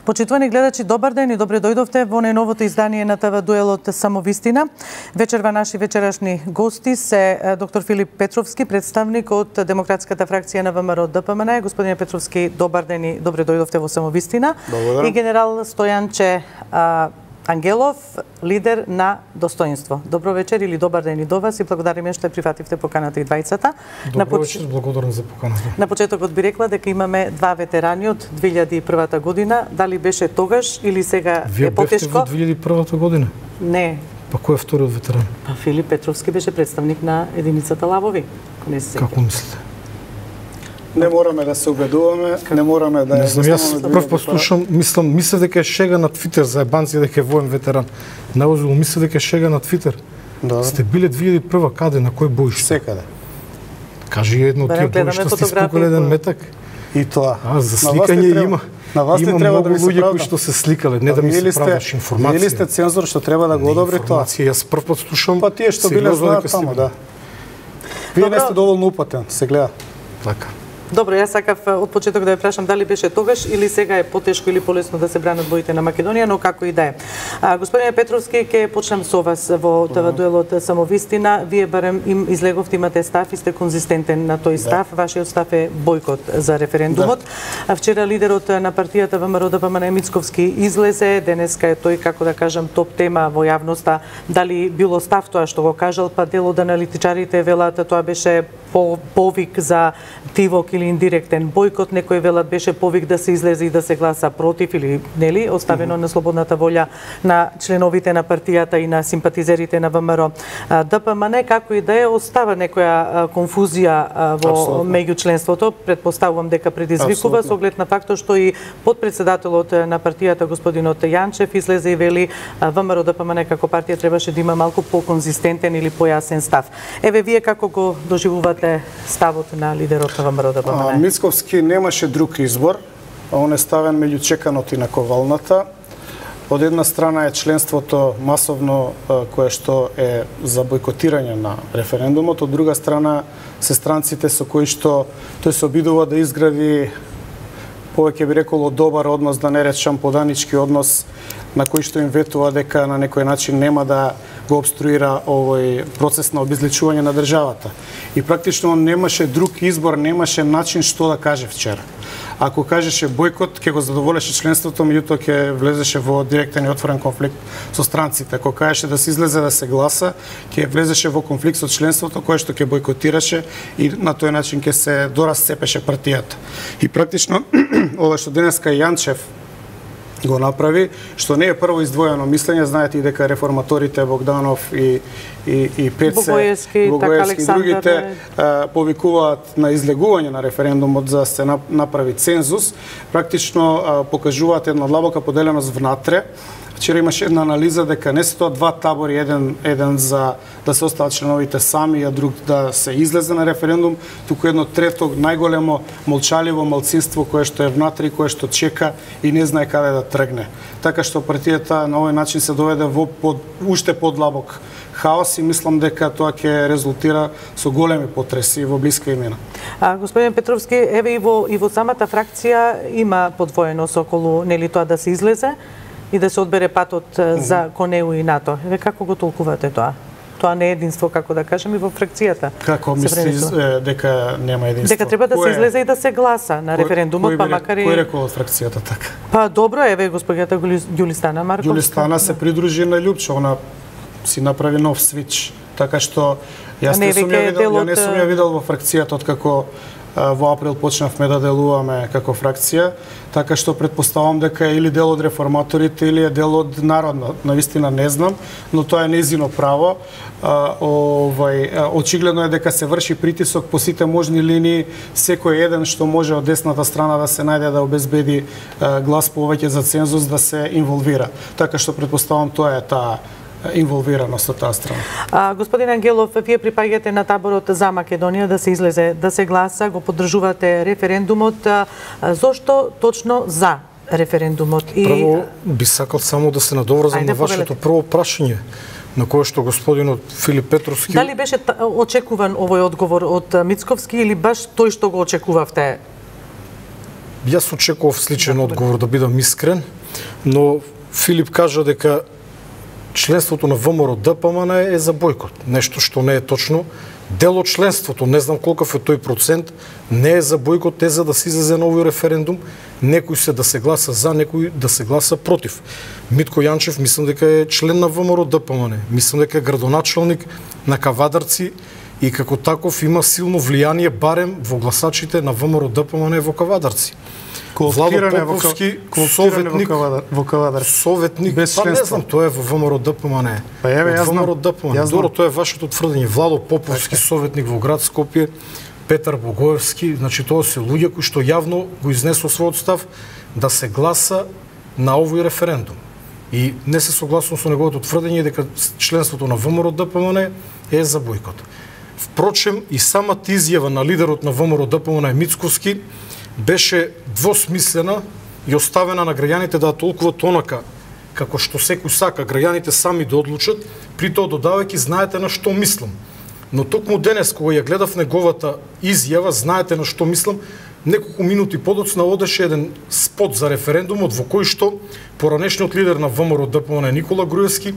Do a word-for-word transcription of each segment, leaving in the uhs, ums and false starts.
Почитувани гледачи, добар ден и добре дојдовте во најновото издание на ТВ дуелот Самовистина. Вечерва наши вечерашни гости се доктор Филип Петровски, представник од демократската фракција на ВМРО ДПМН. Господине Петровски, добар ден и добре дојдовте во Самовистина. Благодарам. И генерал Стојанче а, Ангелов, лидер на Достоинство. Добро вечер или добар ден и до вас и благодариме што прифативте поканата и двајцата. Добро вечер, благодарам за поканата. На почетокот би рекла дека имаме два ветерани од две илјади и прва година. Дали беше тогаш или сега Вие е потешко? Вие бевте во две илјади и прва година? Не. Па кој е вториот ветеран? Па Филип Петровски беше представник на единицата Лавови. Не се Како мислите? Не мораме да се убедуваме, не мораме да... Не знам, јас прв послушам, мислам, мислев дека е шега на Твитер за ебанци дека е воен ветеран. Наозило мислев дека е шега на Твитер. Да. Сте биле две илјади и прва каде, на кој боиш? Секаде. Кажи едно од тие боишта сте спукали еден метак. И тоа. А, за сликање има. На вас има не треба да многу ми се луѓе правда. кои што се сликале, не да ми се правдаш информација. Вие ли сте цензор што треба да го одобри тоа? Информација, јас прв пат слушам. Па тие што биле знаат таму, да. Вие не сте доволно упатен, се гледа. Така. Добро, јас сакав од почеток да ја прашам дали беше тогаш или сега е потешко или полесно да се бранат боите на Македонија, но како и да е. А, господине Петровски, ќе почнем со вас во ТВ дуелот Самовистина. Вие барем им излеговте, имате став и сте конзистентен на тој став. Да. Вашиот став е бојкот за референдумот. Да. Вчера лидерот на партијата ВМРО ДПМН Мицковски излезе, денеска е тој, како да кажам, топ тема во јавноста. Дали било став тоа што го кажал, па дел од аналитичарите велат тоа беше по повик за тивок или индиректен бојкот, некој велат беше повик да се излезе и да се гласа против или нели, оставено mm -hmm. на слободната волја на членовите на партијата и на симпатизерите на ВМРО ДПМН, како и да е, остава некоја конфузија во меѓу членството, предпоставувам дека предизвикува со оглед на фактот што и подпредседателот на партијата господинот Јанчев излезе и вели ВМРО ДПМН како партија требаше да има малку по-конзистентен или појасен став. Еве вие како го доживувате ставот на лидерот на ВМРО ДПМН? Мицковски немаше друг избор, а он е ставен меѓу чеканото и наковалната. Од една страна е членството масовно кое што е за бојкотирање на референдумот, од друга страна се странците со кои што тој се обидува да изгради повеќе би реколо добар однос, да не речам поданички однос, на кој што им ветува дека на некој начин нема да го обструира овој процес на обезличување на државата. И практично он немаше друг избор, немаше начин што да каже вчера. Ако кажеше бојкот, ќе го задоволеше членството, меѓутоа ќе влезеше во директен и отворен конфликт со странците. Ако кажеше да се излезе да се гласа, ќе влезеше во конфликт со членството кое што ќе бојкотираше и на тој начин ќе се дорасцепеше партијата. И практично ова што денеска Јанчев го направи, што не е прво издвоено мислење, знаете и дека реформаторите Богданов и и и Пеце, Богоевски, Богоевски и другите а, повикуваат на излегување на референдумот за да се направи цензус, практично а, покажуваат една длабока поделеност внатре. Вчера имаше една анализа дека не се тоа два табори, еден еден за да се остават членовите сами, а друг да се излезе на референдум, туку едно трето најголемо молчаливо малцинство кое што е внатре, кое што чека и не знае каде да тргне. Така што партијата на овој начин се доведе во под, уште подлабок хаос и мислам дека тоа ќе резултира со големи потреси во блиска имена. А, господин Петровски, еве и во и во самата фракција има подвоеност околу нели тоа да се излезе и да се одбере патот за кон Е У и НАТО. Еве како го толкувате тоа? Тоа не е единство, како да кажем, и во фракцијата. Како мислиш дека нема единство? Дека треба да се излезе и да се гласа на референдумот, па макар и... Кој рекол од фракцијата така? Па добро, еве госпоѓата Ѓулистана Марковска. Ѓулистана се придружи на Љупче, она си направи нов свич. Така што јас не сум ја видел, ја не сум ја видел во фракцијата откако во април почнавме да делуваме како фракција, така што предпоставам дека е или дел од реформаторите или е дел од народно. Навистина не знам, но тоа е незино право. А, овај, очигледно е дека се врши притисок по сите можни линии, секој еден што може од десната страна да се најде да обезбеди а, глас повеќе за цензус да се инволвира. Така што предпоставам тоа е таа инволвираност од таа страна. А, господин Ангелов, вие припаѓате на таборот за Македонија да се излезе, да се гласа, го поддржувате референдумот. А, зошто точно за референдумот? И... Прво би сакал само да се надоврзам на вашето прво прашање, на кое што господинот Филип Петровски... Дали беше очекуван овој одговор од Мицковски или баш тој што го очекувавте? Јас очекував сличен одговор, да бидам искрен. но Филип кажа дека членството на ВМРО-ДПМН е за бойкот. Нешто што не е точно. Дел од членството, не знам колков е тој процент, не е за бойкот, е за да се излезе на овој референдум. Некој се да се гласа за, некој да се гласа против. Митко Јанчев, мислам дека е член на ВМРО-ДПМН. Мислам дека е градоначалник на Кавадарци и како таков има силно влијание барем во гласачите на ВМРО-ДПМН во Кавадарци. Владо Поповски, советник во Кавадарци. Советник, без па не членство. знам, тоа е во ВМРО-ДПМН. Па еве, јас знам. ВМРО-ДПМН. Добро, тоа е вашето тврдење. Владо Поповски, советник во град Скопје, Петар Богоевски, значи тоа се луѓе кои што јавно го изнесува својот став да се гласа на овој референдум. И не се согласувам со неговото тврдење дека членството на ВМРО-ДПМН е за бойкот. Впрочем, и самата изјава на лидерот на ВМРО-ДПМН Мицковски беше двосмислена и оставена на граѓаните да ја толкуват онака како што секој сака, граѓаните сами да одлучат, при тоа додавајќи знаете на што мислам. Но токму денес кога ја гледав неговата изјава, знаете на што мислам, неколку минути подоцна одеше еден спот за референдумот во кој што поранешниот лидер на ВМРО-ДПМН Никола Груевски,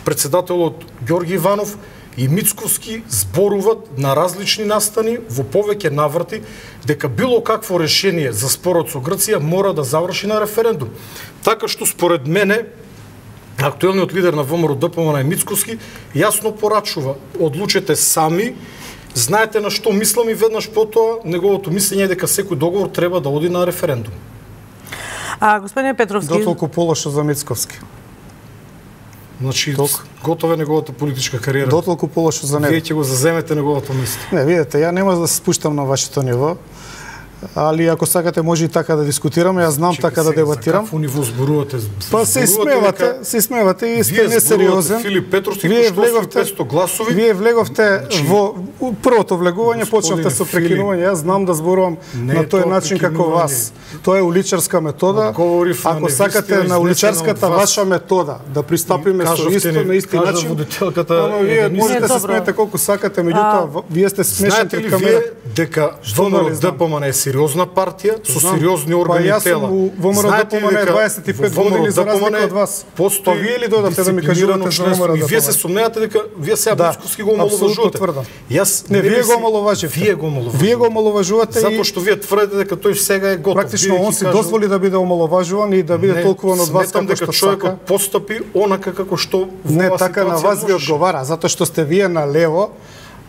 председателот Ѓорги Иванов и Мицковски зборуваат на различни настани во повеќе наврати дека било какво решение за спорот со Грција мора да заврши на референдум. Така што според мене актуелниот лидер на ВМРО-ДПМН Мицковски јасно порачува: одлучете сами, знаете на што мислам, и веднаш потоа неговото мислење е дека секој договор треба да оди на референдум. А господине Петровски, Дотолку полошо за Мицковски. Значи, готова е неговата политичка кариера. Дотолку полошо за него. Вие ќе го заземете неговото место. Не, видете, ја нема да се спуштам на вашето ниво, али ако сакате може и така да дискутираме, јас знам Чекай, така да сега, дебатирам. За какво ниво зборувате? Па се смевате, дека... се смевате и сте Вие несериозен. Филип Петровски, Вие кој што освои влеговте, петстотини гласови. Вие влеговте Значи, во првото влегување, господине почнавте со Филип, прекинување. Јас знам да зборувам не на е тој тоа начин како прекинување. вас. Тоа е уличарска метода. Одговорив на Ако невистина сакате на изнесена уличарската од вас. ваша метода да пристапиме со Кажавте исто ни- на исти кажа начин, водителката ама вие еден можете да се Добро. смеете колку сакате, меѓутоа в- вие сте смешен Знаете ли пред камера. вие дека ВМРО-ДПМН е сериозна партија со Знам. сериозни Па органи јас и тела? сум у ВМРО-ДПМН е дваесет и пет во години за разлика ВМРО-ДПМН од вас. постои Па вие ли дојдовте да ми дисциплинирано кажувате за членство? И вие ВМРО-ДПМН? се сомневате дека вие сега Да, Мицковски го апсолутно омаловажувате. тврдам. Јас Не, вие мисли- го омаловаживте. Вие го омаловажувате. Вие го омаловажувате и Затоа што вие тврдите дека тој сега е готов. практично Вие он ќе си кажу- дозволи да биде омаловажуван и да биде Не, толкуван од вас сметам како дека што човекот сака. постапи онака како што во Не, оваа така на ситуација вас ви можеше. одговара, затоа што сте вие на лево,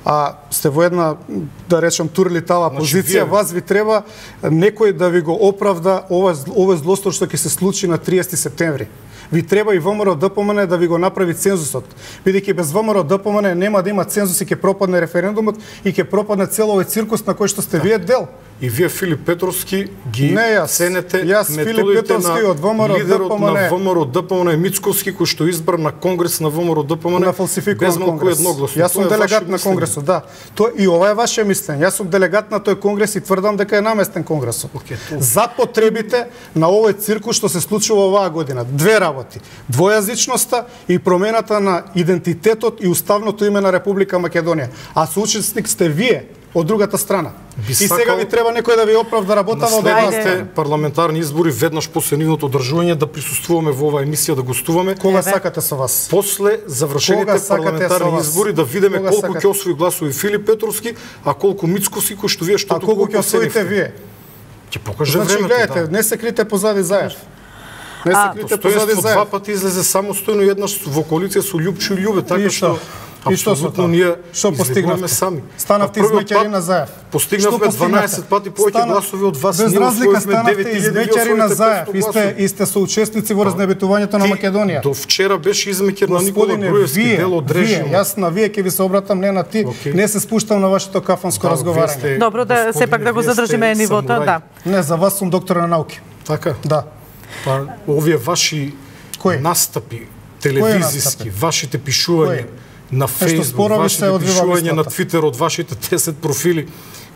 а сте во една, да речем, турлитава Значи, позиција, вие- вас ви треба некој да ви го оправда ова, зл- ова злостор што ќе се случи на триесети септември. Ви треба и ВМРО-ДПМН да ви го направи цензусот. Бидејќи без ВМРО-ДПМН нема да има цензус и ќе пропадне референдумот и ќе пропадне цел овој циркус на кој што сте вие дел. И вие Филип Петровски ги Не јас. ценете Јас, Филип методите Петровски на од ВМРО-ДПМН. лидерот на ВМРО-ДПМН Мицковски, кој што избран на конгрес на ВМРО-ДПМН На фалсификуван без малку конгрес. едногласно. Јас Тоа сум е делегат ваше на мислење. конгресот, да. Тоа и ова е ваше мислење. Јас сум делегат на тој конгрес и тврдам дека е наместен конгресот. Океј, тоа. За потребите на овој циркус што се случува оваа година. Две работи: двојазичноста и промената на идентитетот и уставното име на Република Македонија. А соучесник сте вие од другата страна. Би И сега сакал ви треба некој да ви оправда работава На од вас. следните парламентарни избори веднаш после нивното одржување да присуствуваме во оваа емисија, да гостуваме. Кога Еве. сакате со вас? После завршените Кога сакате парламентарни со вас? избори да видиме Кога колку сакате? ќе освои гласови Филип Петровски, а колку Мицковски, кој што вие што А колку ќе освоите вие? Ќе покаже Значи, времето. гледате, да. не се крите позади Заев. Не се А, крите позади Стојанство Заев. два пати излезе самостојно еднаш во коалиција со Љупчо и Љубе, така И што? што И што со апсолутно тоа? ние Што излегуваме постигнавте? сами. Станавте На првиот измеќари пат на Заев. Постигнавме Што постигнавте? дванаесет пати повеќе Стана- гласови од вас. Без Ние разлика освоивме станавте девет илјади, измеќари вие на освоите Заев петстотини и сте, гласови. и сте соучесници во разнебитувањето на Ти Македонија. До вчера беше измеќер на Никола Господине, Груевски, вие, дел од вие, режимот. јас на вие ќе ви се обратам, не на ти, Океј. не се спуштам на вашето кафанско Да, разговарање. вие сте- Добро, да господине, сепак да го вие сте задржиме нивото, самурај. да. Не, за вас сум доктор на науки. Така? Да. Па овие ваши Кои? настапи телевизиски, вашите пишувања на Фејсбук, спорови вашите се одвива пишувања на мислата. Твитер од вашите десет профили,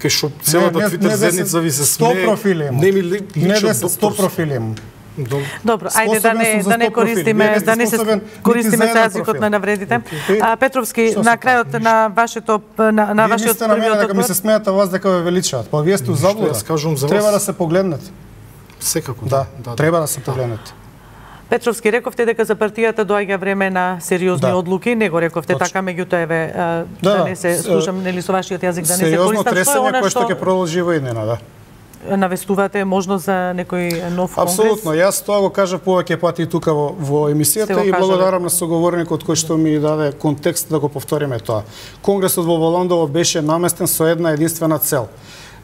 кај што целата не, Твитер не десет, зедница ви се сто смее. профили имам. Не ми ли Не личат десет, сто докторски. профили имам. Добро. Добро, ајде да Способен не сум за да не сто профили. Вие користиме не сте да не се способен нити користиме за со еден јазикот профил. на навредите. Океј. А Петровски, Што на се крајот на вашето на, на Вие вашиот мислите на мене првиот дека ми се одговор. смеете вас дека ве величаат. Па вие сте у заблуда. јас кажувам за Треба вас. да се погледнете. Секако, Да, да. треба да се погледнете. Петровски, рековте дека за партијата доаѓа време на сериозни Да. одлуки, не го рековте Точно. така, меѓутоа еве да, Да, да не се с- слушам нели со вашиот јазик, да не се Сериозно користам. Што е тресење она кое што што ќе продолжи во иднина, да. навестувате можност за некој нов конгрес? Апсолутно, јас тоа го кажав повеќе пати тука во, во Сте емисијата го и кажале. благодарам на соговорникот кој што ми даде контекст да го повториме тоа. Конгресот во Воландово беше наместен со една единствена цел.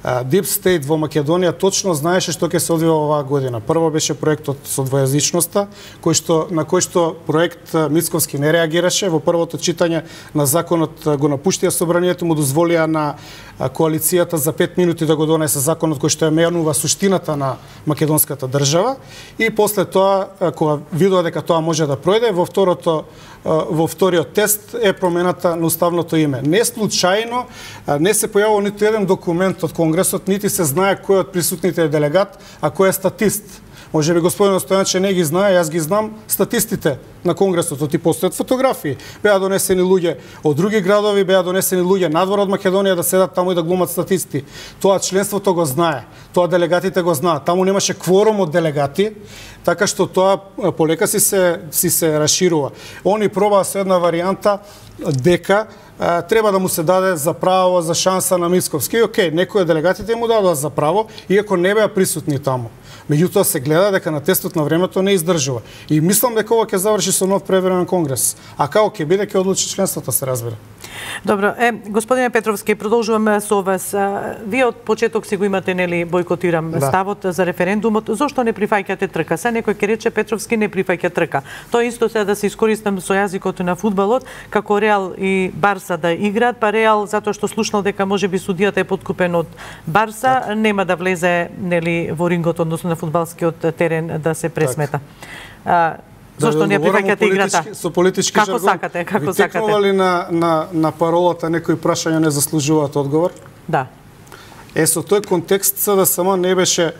Deep State во Македонија точно знаеше што ќе се одвива оваа година. Прво беше проектот со двојазичноста, кој што на кој што проект Мицковски не реагираше во првото читање на законот, го напуштија собранието, му дозволија на коалицијата за пет минути да го донесе законот кој што ја менува суштината на македонската држава и после тоа кога видоа дека тоа може да пројде, во второто во вториот тест е промената на уставното име. Не случајно не се појавува ниту еден документ од Конгресот, нити се знае кој од присутните е делегат, а кој е статист. Може би господин Стојанче не ги знае, јас ги знам статистите на Конгресот, и постојат фотографии. Беа донесени луѓе од други градови, беа донесени луѓе надвор од Македонија да седат таму и да глумат статисти. Тоа членството го знае, тоа делегатите го знаат. Таму немаше кворум од делегати, така што тоа полека си се си се расширува. Они пробаа со една варијанта дека а, треба да му се даде за право, за шанса на Мицковски. И окей, некои од делегатите му дадоа за право, иако не беа присутни таму. Меѓутоа се гледа дека на тестот на времето не издржува. И мислам дека ова ќе заврши со нов превремен конгрес. А како ќе биде, ќе одлучи членството, се разбира. Добро, е, господине Петровски, продолжуваме со вас. А, Вие од почеток си го имате, нели, бойкотирам Да. ставот за референдумот. Зошто не прифаќате трка? Се некој ќе рече Петровски не прифаќа трка. Тоа исто се да се искористам со јазикот на фудбалот, како Реал и Барса да играат, па Реал затоа што слушнал дека можеби судијата е подкупен од Барса, Так. нема да влезе, нели, во рингот, односно на фудбалскиот терен да се пресмета. А, Зошто не прифаќате играта? Со политички Како жаргон. сакате, како Ви сакате. текнува ли на, на, на паролата некои прашања не заслужуваат одговор? Да. Е, со тој контекст да само не беше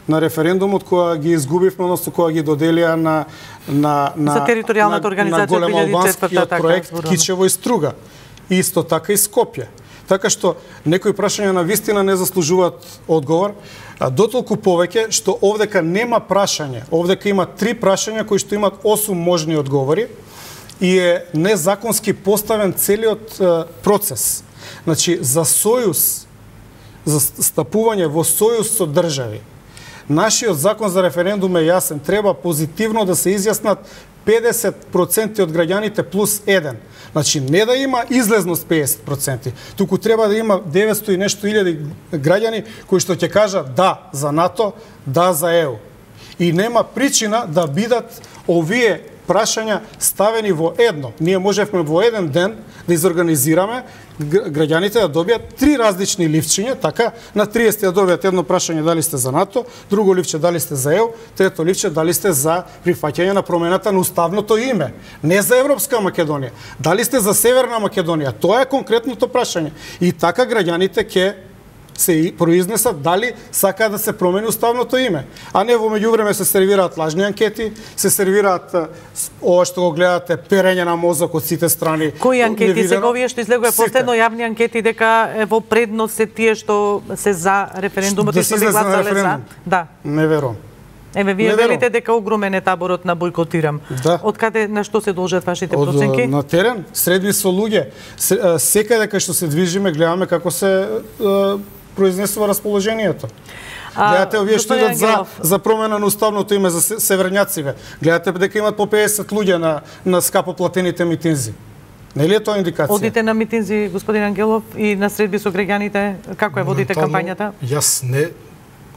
на референдумот кога ги изгубивме, односно кога ги доделија на на на За територијалната организација на голем две илјади и четврта, албанскиот така, проект зборуваме. Кичево и Струга. И исто така и Скопје. Така што некои прашања на вистина не заслужуваат одговор, а дотолку повеќе што овдека нема прашање. Овдека има три прашања кои што имаат осум можни одговори и е незаконски поставен целиот е, процес. Значи, за сојуз, за стапување во сојуз со држави, нашиот закон за референдум е јасен. Треба позитивно да се изјаснат педесет проценти од граѓаните плюс еден. Значи, не да има излезност педесет проценти, туку треба да има деветстотини и нешто илјади граѓани кои што ќе кажат да за НАТО, да за ЕУ. И нема причина да бидат овие прашања ставени во едно. Ние можевме во еден ден да изорганизираме граѓаните да добијат три различни ливчиња, така, на триесет да добијат едно прашање дали сте за НАТО, друго ливче дали сте за ЕУ, трето ливче дали сте за прифаќање на промената на уставното име, не за Европска Македонија. Дали сте за Северна Македонија? Тоа е конкретното прашање. И така граѓаните ќе се произнесат дали сакаат да се промени уставното име. А не во меѓувреме се сервираат лажни анкети, се сервираат ова што го гледате, перење на мозок од сите страни. Кои анкети невидено. сега овие што излегува Сите. последно јавни анкети дека е во предност се тие што се за референдумот Да и се што би излезе на гласале за? референдум? Да. Не верувам. Еве вие Не верувам. велите дека огромен е таборот на бойкотирам. Да. Од каде на што се должат вашите Од, проценки? на терен, средби со луѓе. Се- а, Секаде кај што се движиме, гледаме како се а, произнесува расположението. А, Гледате овие што господин идат за, Ангелов, за промена на уставното име за се- северњациве. Гледате дека имат по педесет луѓе на, на скапо платените митинзи. Нели е тоа индикација? одите на митинзи, господин Ангелов, и на средби со граѓаните, како ја водите Моментално, кампањата? Јас не.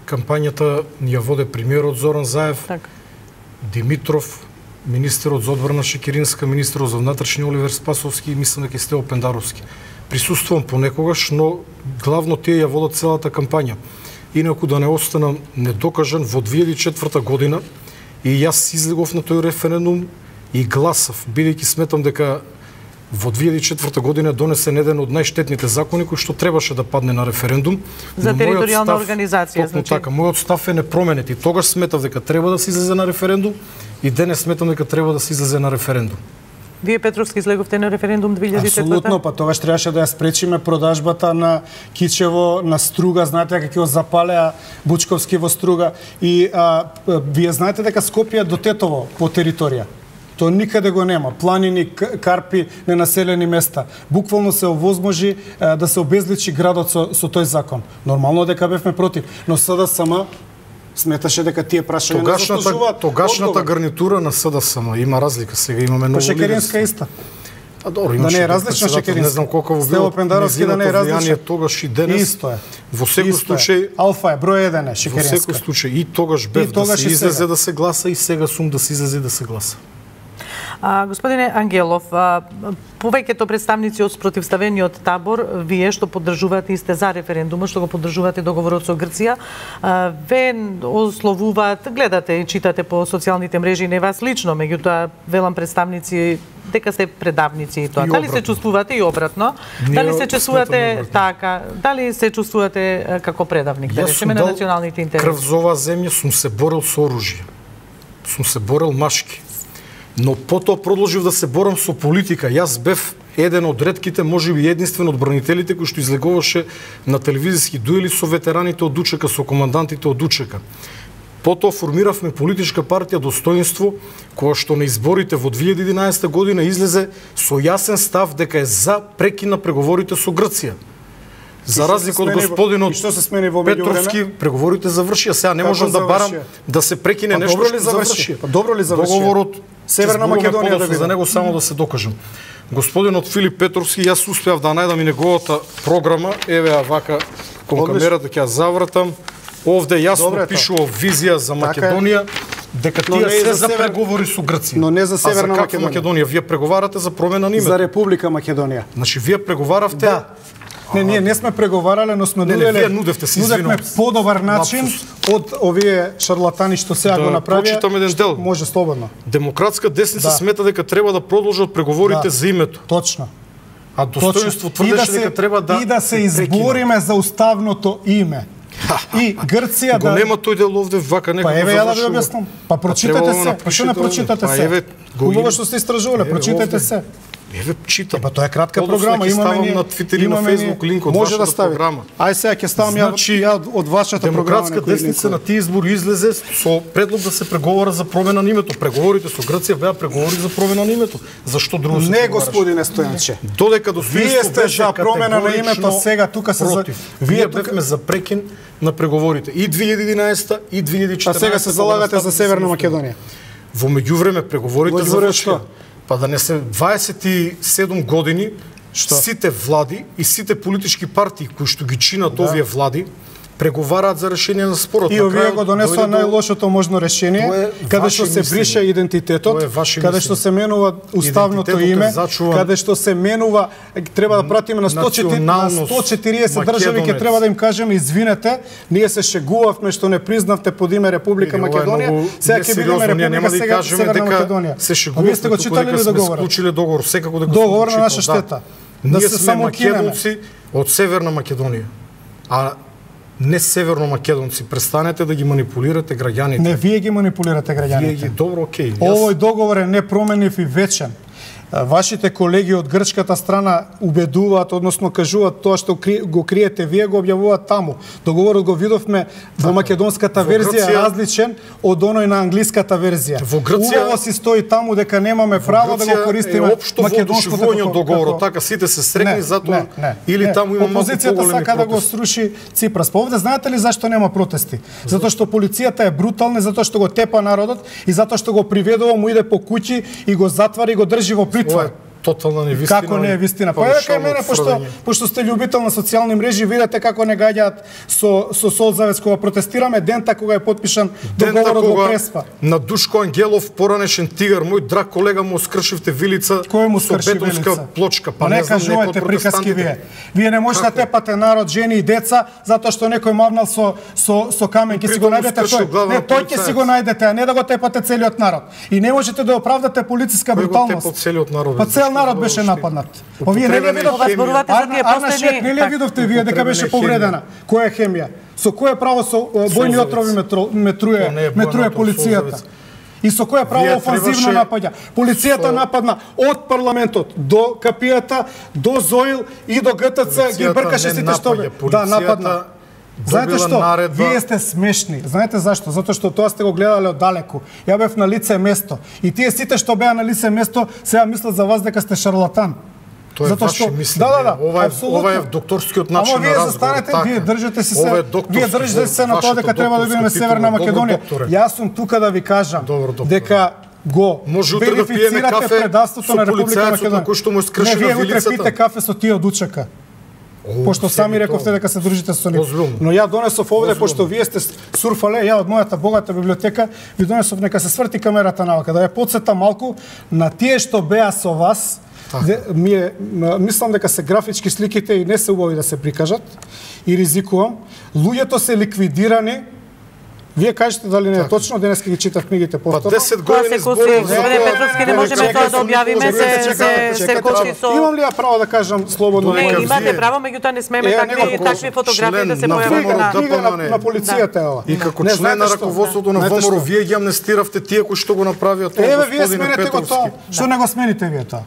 Кампањата ни ја воде премиерот Зоран Заев, Така. Димитров, министерот за одбрана Шекеринска, министерот за внатрешни Оливер Спасовски и мислам дека и Стево Пендаровски. Присуствувам понекогаш, но главно тие ја водат целата кампања. Инаку да не останам недокажан, во две илјади и четврта година и јас излегов на тој референдум и гласав, бидејќи сметам дека во две илјади и четврта година донесен еден од најштетните закони кој што требаше да падне на референдум. За но мојот територијална став- организација, Токму значи. така, мојот став е непроменет и тогаш сметав дека треба да се излезе на референдум и денес сметам дека треба да се излезе на референдум. Вие Петровски излеговте на референдум две илјади и четврта? Апсолутно, па тогаш требаше да ја спречиме продажбата на кичево, на струга, знаете како ќе запалеа Бучковски во струга и а, вие знаете дека Скопје до Тетово по територија. То никаде го нема. Планини, карпи, ненаселени места. Буквално се овозможи а, да се обезличи градот со, со тој закон. Нормално дека бевме против, но СДСМ сметаше дека тие прашања не заслужуваат. Тогашната гарнитура на СДСМ има разлика, сега имаме ново лидерство. Шекеринска иста. А добро, да не е различно Шекеринска. Не знам колку било Стево Пендаровски да не е различно. Тогаш и денес. Исто е. Во секој случај Алфа е број еден е Шекеринска. Во секој случај и тогаш бев да се излезе да се гласа и сега сум да се излезе да се гласа. А, господине Ангелов, а, повеќето представници од спротивставениот табор, вие што поддржувате и сте за референдумот, што го поддржувате договорот со Грција, а, ве ословуваат, гледате и читате по социјалните мрежи, не вас лично, меѓутоа велам представници дека сте предавници и тоа. И дали се чувствувате и обратно? Ние дали се чувствувате така? Дали се чувствувате како предавник, да речеме, на националните интереси? Крв за оваа земја, сум се борел со оружје. Сум се борел машки. Но потоа продолжив да се борам со политика. Јас бев еден од ретките, можеби единствен од бранителите кој што излегуваше на телевизиски дуели со ветераните од УЧК, со командантите од УЧК. Потоа формиравме политичка партија Достоинство, која што на изборите во две илјади и единаесета година излезе со јасен став дека е за прекин на преговорите со Грција. За разлика од господинот Петровски, преговорите завршија. Сега не можам да барам да се прекине нешто што заврши. Па добро ли заврши? Договорот Северна Македонија да за него само да се докажам. Господинот Филип Петровски, јас успеав да најдам и неговата програма, еве ја вака кон камерата ќе ја завртам. Овде јасно пишува визија за Македонија, дека тие се за преговори со Грција. Но не за Северна Македонија. Македонија. Вие преговарате за промена на името. За Република Македонија. Значи вие преговаравте. Да. Не, ние не сме преговарале, но сме нуделе, вие нудевте, се нудевме подобар начин од овие шарлатани што сега го направија. Да прочитам еден дел. Може слободно. Демократска десница смета дека треба да продолжат преговорите за името. Точно. А Достоинство тврдеше дека треба да и да се избориме за уставното име. И Грција да го нема тој дел овде вака некако. Па еве ја да ви објаснам. Па прочитате се. Па што не прочитате се? Хубаво што сте истражувале, прочитате се. Еве читам. Па тоа е кратка програма, имаме ни на Твитер и на Фејсбук линк од може да вашата програма. Ај сега ќе ставам ја ја од вашата програма. Демократска десница на тие избори излезе со предлог да се преговара за промена на името. Преговорите со Грција беа преговори за промена на името. Зашто друго се не, господине Стојанче. Додека до вие сте за промена на името, сега тука се за вие бевме за прекин на преговорите и две илјади и единаесета и две илјади и четиринаесета. А сега се залагате за Северна Македонија. Во меѓувреме преговорите завршија. Па да не се дваесет и седум години што? Сите влади и сите политички партии кои што ги чинат да. Овие влади преговараат за решение на спорот. И овие го донесоа најлошото можно решение, каде што се брише идентитетот, каде што се менува уставното име, каде што се менува, треба да пратиме на сто четириесет држави, ќе треба да им кажеме извинете, ние се шегувавме што не признавте под име Република Македонија, сега ќе бидеме Република сега Северна Македонија. Се шегувавме, вие сте го читали ли договорот? Склучиле договор, секако да го договор на наша штета. Да се само македонци од Северна Македонија. А не северно македонци, престанете да ги манипулирате граѓаните. Не, вие ги манипулирате граѓаните. Вие ги, добро, окей. Овој договор е непроменив и вечен. Вашите колеги од грчката страна убедуваат, односно кажуваат тоа што го криете вие, го објавуваат таму. Договорот го видовме во македонската верзија различен од оној на англиската верзија. Во Грција убаво си стои таму дека немаме право да го користиме македонското договорот, така сите се срекни затоа или таму има малку поголеми. Опозицијата сака да го сруши Ципрас. Па овде знаете ли зашто нема протести? Затоа што полицијата е брутална, затоа што го тепа народот и затоа што го приведува, му иде по куќи и го затвара и го држи во притвор. Ова е тотална невистина. Како не е вистина? Па еве кај мене, пошто пошто сте љубител на социјални мрежи, видете како не гаѓаат со со Солзавец кога протестираме дента кога е потпишан договорот во Преспа. На Душко Ангелов, поранешен тигар, мој драг колега, му скршивте вилица со бетонска плочка. Па не кажувате приказки вие. Вие не можете да тепате народ, жени и деца затоа што некој мавнал со со со камен, ќе си го најдете тој. Не, тој ќе си го најдете, а не да го тепате целиот народ. И не можете да оправдате полициска бруталност. Па целиот народ. Па цел народ беше нападнат. Па вие не ли видовте? Арна Шек не ли видовте вие дека беше повредена? Која хемија? Со кое право со бојни отрови метруе метруе полицијата? И со која право Вие офанзивно требаше напаѓа. Полицијата со- нападна од парламентот до капијата, до ЗОИЛ и до ГТЦ, ги Полицијата бркаше не сите што бе. напаѓа. Да, Полицијата нападна. Знаете добила што? наредба- Вие сте смешни. Знаете зашто? Затоа што тоа сте го гледале од далеку. Ја бев на лице место. И тие сите што беа на лице место, сега мислат за вас дека сте шарлатан. Тоа е Затоа ваше што- мислење. Да, да, да, ова е, апсолутно. ова е докторскиот начин Ама на вие разговор. застанете, така. вие држите си Ова се, е докторски, вие држите се на тоа вашата дека треба да бидеме докторска Северна титула. Добро, Македонија. докторе. Јас сум тука да ви кажам Добро, докторе. дека го Може утре да пиеме верифицирате кафе предавството со на Република полицајецот Македонија. на кој што му е скршена Не, вие утре вилицата. пите кафе со тие од Учака. Пошто сами рековте дека се дружите со нив. Озбилно. Но ја донесов овде, Озбилно. пошто вие сте сурфале, ја од мојата богата библиотека, ви донесов нека се сврти камерата навака, да ја подсета малку на тие што беа со вас. Де, ми е, м, мислам дека се графички сликите и не се убави да се прикажат и ризикувам. Луѓето се ликвидирани. Вие кажете дали не е точно, денеска ги читав книгите Па повторно. десет Тоа години се коси, зборував за господине тоа. Петровски, не можеме тоа да објавиме, се се се коси со. Имам ли ја право да кажам слободно? Не, Нека имате вие- право, меѓутоа не смееме Е, такви нека такви фотографии да се член на појават ВМРО на Книга на, ДПМН. на полицијата е ова. И како Не, член знаете на што? раководството на Знаете ВМРО, што? вие ги амнестиравте тие кои што го направија тоа, Еве, вие господине сменете го тоа. Петровски. Што не го смените вие тоа?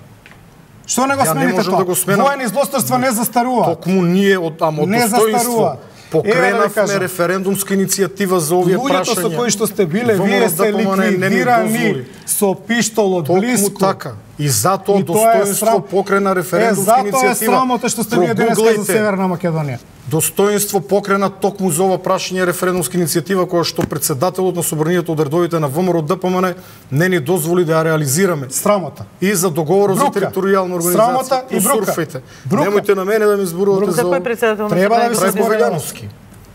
Што не го Ја не смените можам тоа? да го сменам. Воени злосторства не застаруваат. Токму ние од ама од Не достоинство застаруваат. Еве да ви покренавме кажам. референдумска иницијатива за овие Луѓето со прашања. кои што сте биле, ВМРО вие се ДПМН не ни ликвидирани дозволи. со пиштол од Токму блиску. така. И затоа И тоа е достоинство срам- покрена референдумска Е, затоа иницијатива. е срамота што сте вие денеска за Прогуглајте. Северна Македонија. Достоинство покрена токму за ова прашање референдумска иницијатива која што председателот на собранието од редовите на ВМРО ДПМН не ни дозволи да ја реализираме. Срамота. И за договорот за Брука. територијална организација. Срамота и брука. Посурфајте. Брука. Немојте на мене да ми зборувате За за кој председател на Треба да ви собранието? се Трајко зборува. Велјановски.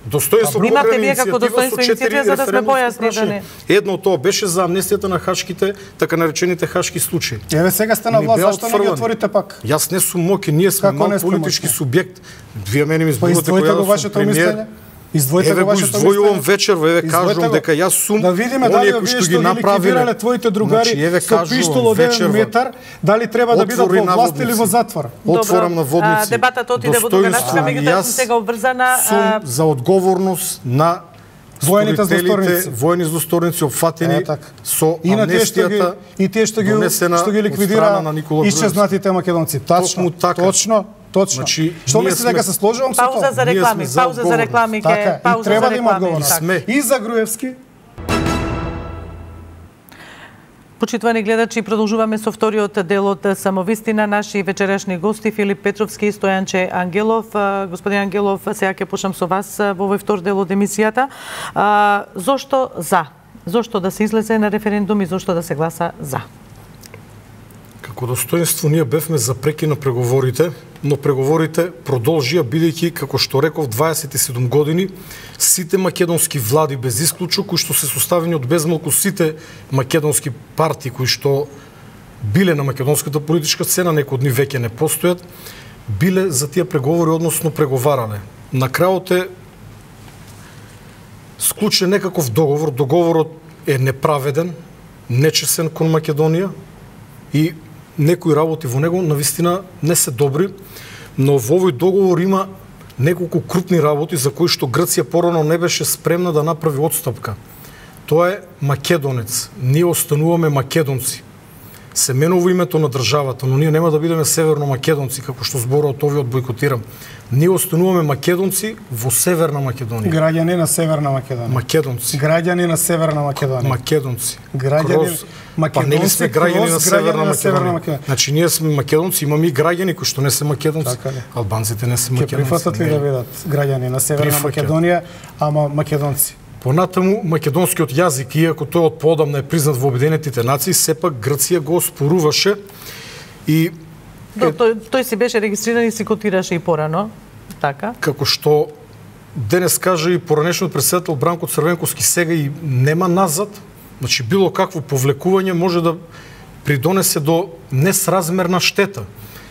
Достоинство Имавте покрена вие како иницијатива достоинство со четири иницијатива, за да сме референдумски појасни, да прашања. не- Едно од тоа беше за амнестијата на хашките, така наречените хашки случаи. Еве сега сте на Ни власт, беа зашто не ги отфрлани. отворите пак? Јас не сум моки, ние сме Како мал не сте политички моќни? субјект. Вие мене ми Па зборувате кој издвојте јас го сум вашето премиер. мислење. Издвојте Еве го го вашето издвојувам мислење. вечерва, еве Издвојте кажувам го. дека јас сум Да видиме оние дали кои вие што што ги ги направиле. ликвидирале твоите другари Значи, еве со кажувам, пиштол од еден вечерва. метар, дали треба да бидат Отвори во власт или наводници. во затвор? Отворам Добро, наводници. а, дебатата отиде во друга Достоинство. насока, меѓутоа Јас сум сега обврзана. Сум а, за одговорност на Воените сторителите, злосторници. воени злосторници опфатени Е, така. со И на тие што ги амнестијата и тие што ги донесена што ги од ликвидира страна на Никола Груевски. исчезнатите македонци. Тачно, Токму така. точно, точно. Значи, Што ние мислите сме- дека се сложувам со Пауза тоа? за Ние реклами, сме за пауза за одговорност. реклами, Така, ке, и пауза треба за да има реклами. одговорност. Така. Сме. И за Груевски, Почитувани гледачи, продолжуваме со вториот дел од Самовистина. Наши вечерашни гости Филип Петровски и Стојанче Ангелов. А, Господин Ангелов, сега ќе почнам со вас а, во овој втор дел од емисијата. А, зошто за? Зошто да се излезе на референдум и зошто да се гласа за? Како достоинство ние бевме за преки на преговорите, но преговорите продолжија бидејќи, како што реков, дваесет и седум години сите македонски влади без исклучок, кои што се составени од безмалку сите македонски партии кои што биле на македонската политичка сцена, некои од нив веќе не постојат, биле за тие преговори, односно преговарале. На крајот е склучен некаков договор, договорот е неправеден, нечесен кон Македонија и некои работи во него навистина не се добри, но во овој договор има неколку крупни работи за кои што Грција порано не беше спремна да направи отстапка. Тоа е македонец. Ние остануваме македонци. Се менува името на државата, но ние нема да бидеме северно македонци, како што зборот овој од бойкотирам. Ние остануваме македонци во Северна Македонија. граѓани на Северна Македонија. Македонци. Граѓани на Северна Македонија. Македонци. Граѓани- Кроз- македонци па нели сме граѓани кроз на граѓани Северна на Северна Македонија. Македонија. Значи ние сме македонци, имаме и граѓани кои што не се македонци. Така ли? Албанците не се Ќе македонци. прифатат ли не. да бидат граѓани на Северна Прифаќа. Македонија, ама македонци? Понатаму македонскиот јазик, иако тој од поодамна е признат во Обединетите нации, сепак Грција го оспоруваше и До, тој, тој си беше регистриран и си котираше и порано. Така. како што денес кажа и поранешниот председател Бранко Црвенковски, сега и нема назад, значи било какво повлекување може да придонесе до несразмерна штета.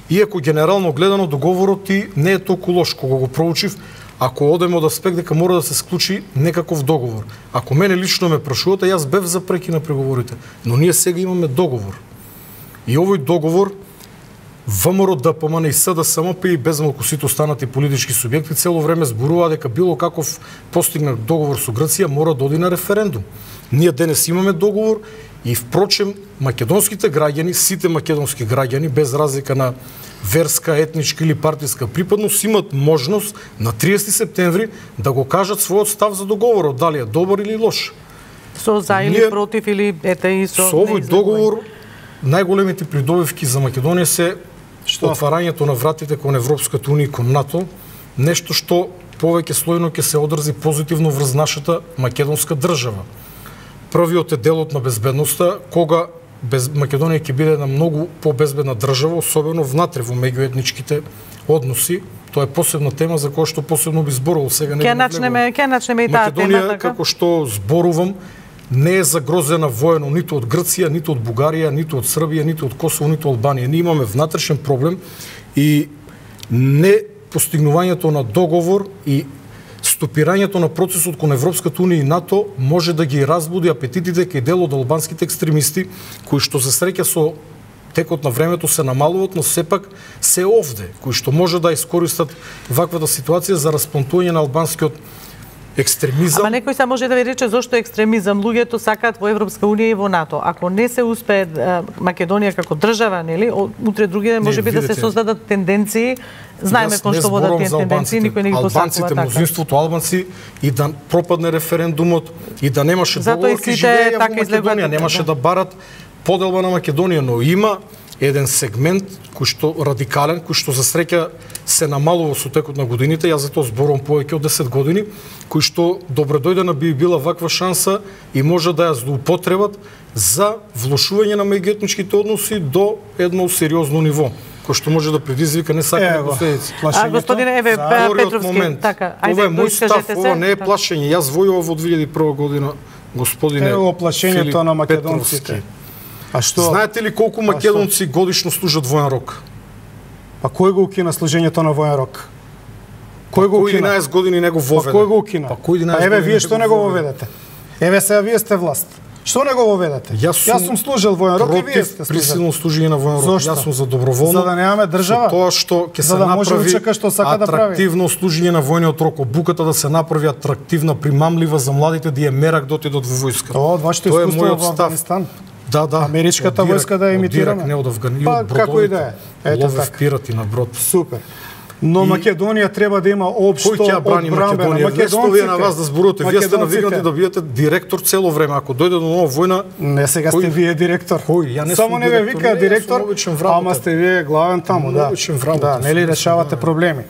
Иако генерално гледано договорот и не е толку лош, кога го проучив, ако одеме од аспект дека мора да се склучи некаков договор. Ако мене лично ме прашувате, јас бев за преки на преговорите, но ние сега имаме договор. И овој договор ВМРО, ДПМН и СДСМП и безмалку сите останати политички субјекти цело време зборуваа дека било каков постигнат договор со Грција мора да оди на референдум. Ние денес имаме договор И впрочем, македонските граѓани, сите македонски граѓани, без разлика на верска, етничка или партиска припадност, имат можност на триесети септември да го кажат својот став за договорот, дали е добар или лош. Со за или Ние, против или ете и со... Со овој договор, најголемите придобивки за Македонија се што? Отварањето на вратите кон Европската унија и кон НАТО, нешто што повеќе слојно ќе се одрзи позитивно врз нашата македонска држава. Првиот е делот на безбедноста, кога без Македонија ќе биде една многу побезбедна држава, особено внатре во меѓуетничките односи. Тоа е посебна тема за која што посебно би зборувал сега. Ќе начнеме, ќе начнеме и таа тема, Македонија, така? како што зборувам, не е загрозена воено ниту од Грција, ниту од Бугарија, ниту од Србија, ниту од Косово, ниту од Албанија. Ние имаме внатрешен проблем и не постигнувањето на договор и стопирањето на процесот кон Европската унија и НАТО може да ги разбуди апетитите кај дел од албанските екстремисти, кои што за среќа со текот на времето се намалуваат, но сепак се овде, кои што може да искористат ваквата ситуација за расплантување на албанскиот екстремизам. Ама некој се може да ви рече зошто екстремизам? Луѓето сакаат во Европска унија и во НАТО. Ако не се успее Македонија како држава, нели, утре други може би да се создадат тенденции. Знаеме кон што водат тие тенденции, никој не ги посакува албанците, така. мнозинството албанци, и да пропадне референдумот, и да немаше договор, ки живееја во Македонија, немаше да барат поделба на Македонија, но има еден сегмент кој што радикален, кој што за среќа се намалува со текот на годините, јас за тоа зборувам повеќе од десет години, кој што добредојдена би била ваква шанса и може да ја злоупотребат за влошување на меѓуетничките односи до едно сериозно ниво, кој што може да предизвика не сакани последици. А господине Еве Петровски, така, ајде, ова е мој став, се. ова не е плашење. Јас војував во две илјади и прва година, господине. Ево плашењето на македонците. А што? Знаете ли колку македонци годишно служат воен рок? Па кој го укина служењето на воен рок? Кој го укина? единаесет години не го воведе. Па кој го укина? Па кој единаесет Па еве години вие што не го воведете? Еве сега вие сте власт. Што не го воведете? Јас сум, Јас сум служел воен рок и вие сте служели. Присилно служење на воен рок. Зошто? Јас сум за доброволно. За да немаме држава? Тоа што ќе се да може направи учека што сака да прави. атрактивно служење на војниот рок, обуката да се направи атрактивна, примамлива за младите да ја мерак да отидат во војска. Тоа од вашето Тоа е искуство мојот во став. Афганистан. Да, да. Америчката Од Ирак, војска да ја од имитираме. Ирак, не од Афганистан, Па, од како и да бродовите. е. Ето Ловев така. пирати на брод. Супер. Но И- Македонија треба да има општо Кој ќе ја брани одбранбена. Македонија? Вместо вие на вас да зборувате, вие сте македонците. навикнати да бидете директор цело време. Ако дојде до нова војна, Не, сега Кој? сте вие директор. Кој? Ја не Само сум не ве директор. вика Не, јас директор, сум обичен вработен. ама сте вие главен таму, да. Обичен вработен Да, сум, нели не сум решавате главен. проблеми.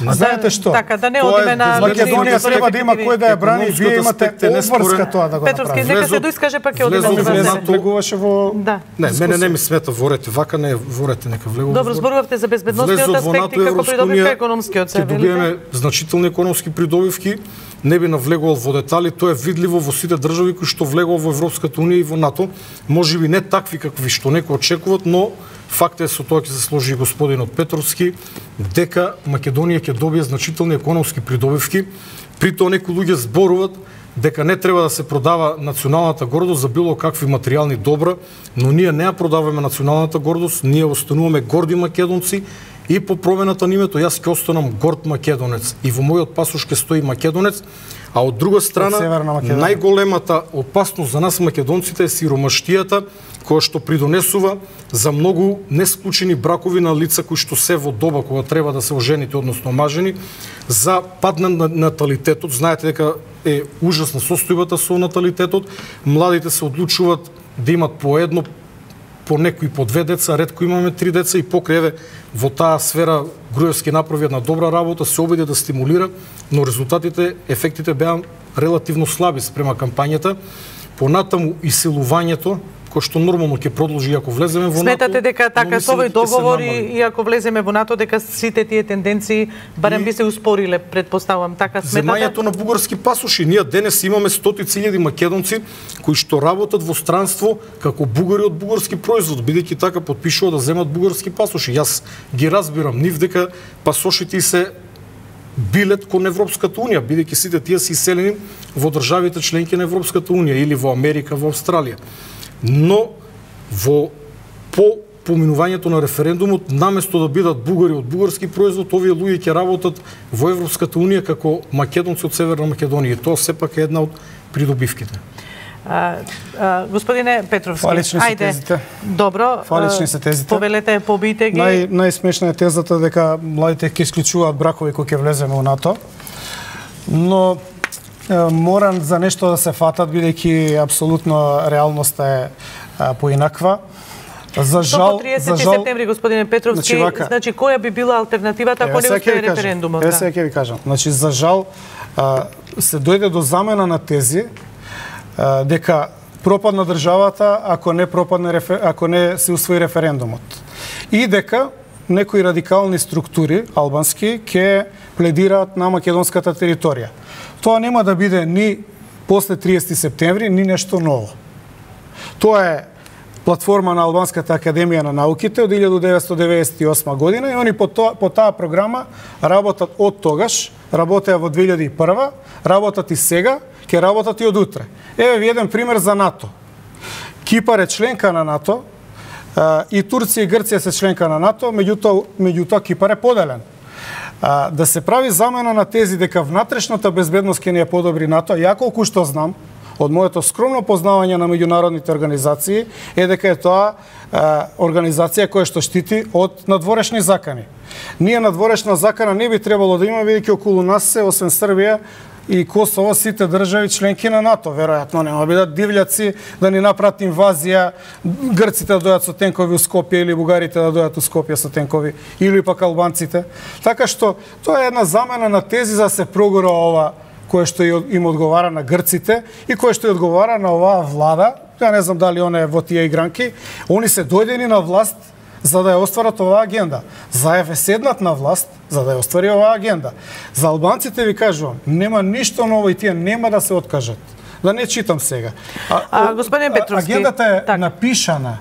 Знаете што? Така, да не Тоа е одиме на... Македонија треба да има кој да ја брани, вие Економскиот имате аспект е неспорен. обврска тоа да го Петровски, направите. нека се Влезот- доискаже, па ќе одиме влезот на во врзане. НАТО. Влегуваше во Да. не, мене не ми смета ворете, вака не ворете, нека влегува. Добро, зборувавте за безбедносниот Влезот во аспект НАТО и и како Европска придобивка унија, економскиот се ќе добиеме значителни економски придобивки. Не би навлегувал во детали, тоа е видливо во сите држави кои што влегува во Европската унија и во НАТО. Можеби не такви какви што некои очекуваат, но факт е, со тоа ќе се сложи и господинот Петровски, дека Македонија ќе добие значителни економски придобивки. При тоа некои луѓе зборуваат дека не треба да се продава националната гордост за било какви материјални добра, но ние не ја продаваме националната гордост, ние остануваме горди македонци и по промената на името јас ќе останам горд македонец и во мојот пасош ќе стои македонец, а од друга страна Северна Македонија. најголемата опасност за нас македонците е сиромаштијата, која што придонесува за многу несклучени бракови на лица кои што се во доба кога треба да се ожените, односно омажени, за пад на наталитетот. Знаете дека е ужасна состојбата со наталитетот. Младите се одлучуваат да имат по едно, по некои по две деца, ретко имаме три деца и покрај еве во таа сфера Груевски направи една добра работа, се обиде да стимулира, но резултатите, ефектите беа релативно слаби спрема кампањата. Понатаму иселувањето, кој што нормално ќе продолжи ако влеземе во НАТО. Сметате дека така но со овој мислите ќе се договор намали. и, и ако влеземе во НАТО дека сите тие тенденции барем И- би се успориле, предпоставам, така сметате? Земањето на бугарски пасоши. Ние денес имаме стотици илјади македонци кои што работат во странство како бугари од бугарски производ, бидејќи така потпишува да земат бугарски пасоши. Јас ги разбирам нив дека пасошите се билет кон Европската унија, бидејќи сите тие се иселени во државите членки на Европската унија или во Америка, во Австралија. Но во по поминувањето на референдумот, наместо да бидат бугари од бугарски производ, овие луѓе ќе работат во Европската унија како македонци од Северна Македонија. И тоа сепак е една од придобивките. А, а, господине Петровски, Фалични се ајде. тезите. Добро. Фалични се тезите. Повелете, побијте ги. Нај најсмешна е тезата дека младите ќе исклучуваат бракови кои ќе влеземе во НАТО. Но е, морам за нешто да се фатат бидејќи апсолутно реалноста е а, поинаква. За жал, До триесети за жал, септември, господине Петровски, значи, вака, значи која би била алтернативата ако не успее референдумот? Е, сега ќе ви кажам. Значи, за жал, а, се дојде до замена на тези а, дека пропадна државата ако не пропадне рефер... ако не се усвои референдумот. И дека некои радикални структури албански ќе пледираат на македонската територија. Тоа нема да биде ни после триесети септември, ни нешто ново. Тоа е платформа на Албанската академија на науките од илјадум деветстотини деветдесет и осма година и они по, тоа, по таа програма работат од тогаш, работеа во две илјади и прва, работат и сега, ќе работат и од утре. Еве ви еден пример за НАТО. Кипар е членка на НАТО, и Турција и Грција се членка на НАТО, меѓутоа, меѓутоа Кипар е поделен. А, да се прави замена на тези дека внатрешната безбедност ќе ни ја подобри НАТО, ја колку што знам, од моето скромно познавање на меѓународните организации, е дека е тоа а, организација која што штити од надворешни закани. Ние надворешна закана не би требало да има, бидејќи околу нас се, освен Србија и Косово, сите држави членки на НАТО. Веројатно нема бидат дивљаци да ни направат инвазија, грците да дојдат со тенкови у Скопје или бугарите да дојдат у Скопје со тенкови, или пак албанците. Така што тоа е една замена на тези за да се прогора ова кое што им одговара на грците и кое што ја одговара на оваа влада. Ја не знам дали она е во тие игранки. Они се дојдени на власт за да ја остварат оваа агенда. Заев е седнат на власт за да ја оствари оваа агенда. За албанците ви кажувам, нема ништо ново и тие нема да се откажат. Да не читам сега. А, а господин Петровски, агендата е так. напишана.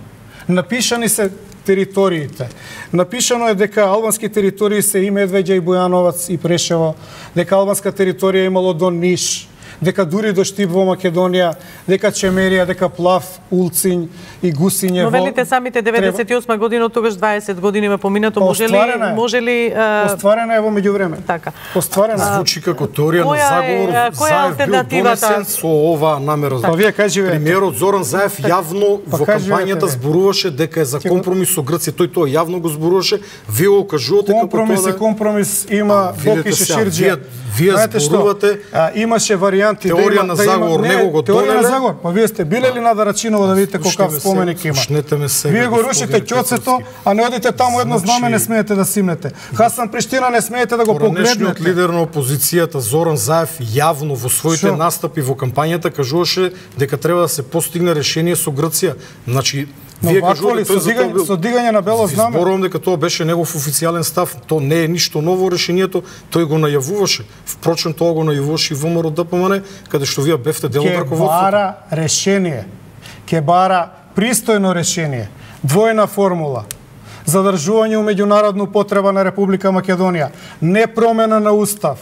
Напишани се териториите. Напишано е дека албански територии се и Медвеѓа, и Бојановац, и Прешево, дека албанска територија имало до Ниш, дека дури до Штип во Македонија, дека Чемерија, дека Плав, Улцинј и Гусиње. Но велите самите деветдесет и осма година, од тогаш дваесет години ме поминато, може ли Остварена е. може ли а... Остварена е во меѓувреме. Така. Остварена. Звучи како теорија на Која е- заговор. која е Заев бил алтернативата? донесен со оваа намера. Па вие кажете. Премиерот Зоран Заев јавно Па во кажете, кампањата бе. зборуваше дека е за компромис со Грција. Тој тоа јавно го зборуваше. Вие го кажувате како Компромис тоа и да... компромис има Бок видете и сега, Шеширџи. вие- вие Знаете што? зборувате А, имаше варијанти теорија да има, на да заговор, има, него го теорија на донеле. заговор. Па вие сте биле ли на Дарачиново да видите Слушнете колкав ме споменик сега, има? слушнете ме сега, Вие го господин рушите ќоцето, Петровски. а не одите таму едно Значи, знаме не смеете да симнете. Хасан Приштина не смеете да го Поранешниот погледнете. лидер на опозицијата Зоран Заев јавно во своите Шо? настапи во кампањата кажуваше дека треба да се постигне решение со Грција. Значи, Но вие вакво кажувате ли, тој со за тоа дигање, бил. со дигање на бело Ви знаме? зборувам дека тоа беше негов официјален став. Тоа не е ништо ново решението, тој го најавуваше. Впрочем, тоа го најавуваше и ВМРО ДПМН, каде што вие бевте дел од Ке раководството. бара решение. Ке бара пристојно решение. Двојна формула. Задржување у меѓународну потреба на Република Македонија. Не промена на устав.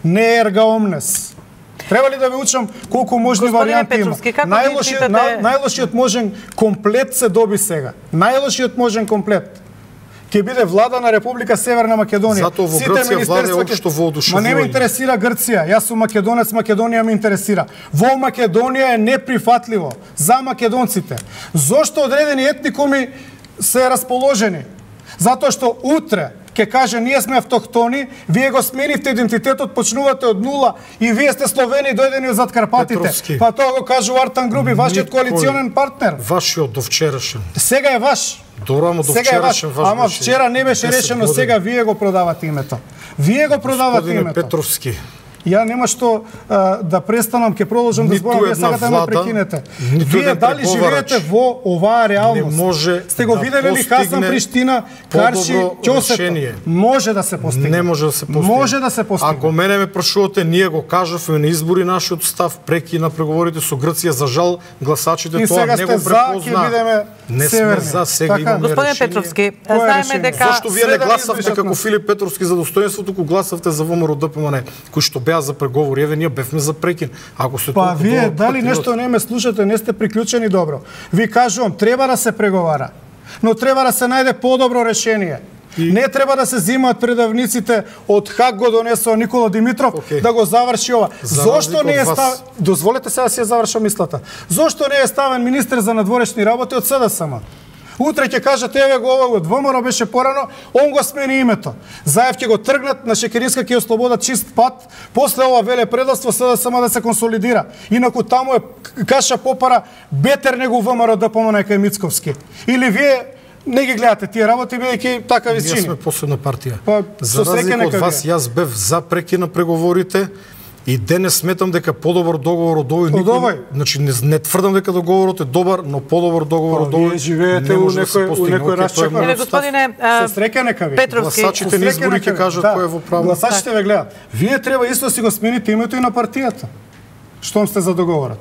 Не ерга омнес. Треба ли да ви учам колку можни Господине варијанти има? Петровски, како ги Најлошиот, читате- на, најлошиот можен комплет се доби сега. Најлошиот можен комплет ќе биде влада на Република Северна Македонија. Затоа во Сите Грција министерства влада е ќе- општо воодушевување. Ма не ме интересира Грција. Јас сум македонец, Македонија ме интересира. Во Македонија е неприфатливо за македонците. Зошто одредени етникуми се расположени? Затоа што утре ќе каже ние сме автохтони, вие го сменивте идентитетот, почнувате од нула и вие сте Словени дојдени од зад Карпатите. Петровски. Па тоа го кажува Артан Груби, вашиот Никој- коалиционен партнер. Вашиот до вчерашен. Сега е ваш. Добро, ама до Сега е ваш. вчерашен ваш Ама беше вчера не беше десет решено, години. сега вие го продавате името. Вие го продавате Господине името. Петровски, Ја нема што а, да престанам, ќе продолжам да Ниту зборам, вие една сакате да ме влада, прекинете. ниту Вие еден дали преговарач живеете во оваа реалност? не може Сте го да виделе ли Хасан постигне Приштина, Карши, подобро Ќосето? решение. Може да се постигне. не може да се постигне. Може да се постигне. Ако мене ме прашувате, ние го кажавме на избори нашиот став преки на преговорите со Грција, за жал гласачите И тоа сега не сте го за, препозна. ќе бидеме Не сме северни. за, сега Така. имаме Господине решение. Петровски, Кое е знаеме решение? дека Зошто вие Све не да гласавте избришат како нас. Филип Петровски за достоинството, кога гласавте за ВМРО ДПМН, кои што беа за преговори? Еве ние бевме за прекин. Ако се Па толку вие добро дали патриоти- нешто не ме слушате, не сте приклучени добро. Ви кажувам, треба да се преговара, но треба да се најде подобро решение. И... Не треба да се земаат предавниците од Хаг го донесува Никола Димитров okay. да го заврши ова. За Зошто не е вас... став... Дозволете сега да си ја завршам мислата. Зошто не е ставен министер за надворешни работи од СДСМ? Утре ќе кажат, еве го ова од ВМРО беше порано, он го смени името. Заев ќе го тргнат, на Шекеринска ќе ослободат чист пат, после ова веле предавство СДСМ да се консолидира. Инаку таму е каша попара бетер него ВМРО да помане кај Мицковски. Или вие не ги гледате тие работи, бидејќи така ви чини. Ние сме последна партија. Па, за разлика од вас, јас бев за прекина преговорите и денес сметам дека подобар договор од овој никој, значи не, не тврдам дека договорот е добар, но подобар договор од овој живеете у некој у некој расчек. Еле господине со среќа нека ви. Петровски, гласачите на избори ќе кажат кој е во право. Гласачите ве гледаат. Вие треба исто да си го смените името и на партијата. Штом сте за договорот.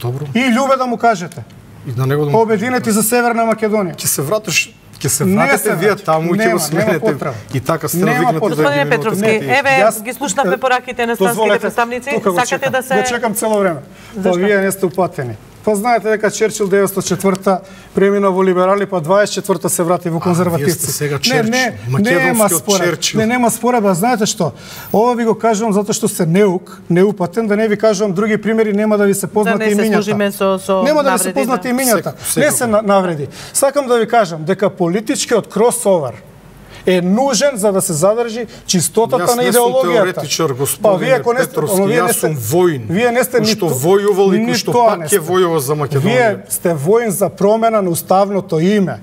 Добро. И љубе да му кажете. И на него да му обединете за Северна Македонија. Ќе се вратиш Ќе се вратите вие таму и ќе го сменете и така сте навикнати да. Господине Петровски, еве ги слушнавме пораките на странските представници, сакате да се го чекам цело време. Па вие не сте упатени. Па знаете дека Черчил деветстотини и четврта премина во либерали, па дваесет и четврта се врати во конзервативци. Не, не, нема според. Не, нема според, а знаете што? Ова ви го кажувам затоа што се неук, неупатен, да не ви кажувам други примери, нема да ви се познати имињата. Нема да ви се познати имињата. Не се навреди. Сакам да ви кажам дека политичкиот кросовер е нужен за да се задржи чистотата на идеологијата. Теоретичар, господине па, Петровски, јас сум воин. Вие не сте нито војувал и што пак ќе војува за Македонија. Вие сте воин за промена на уставното име.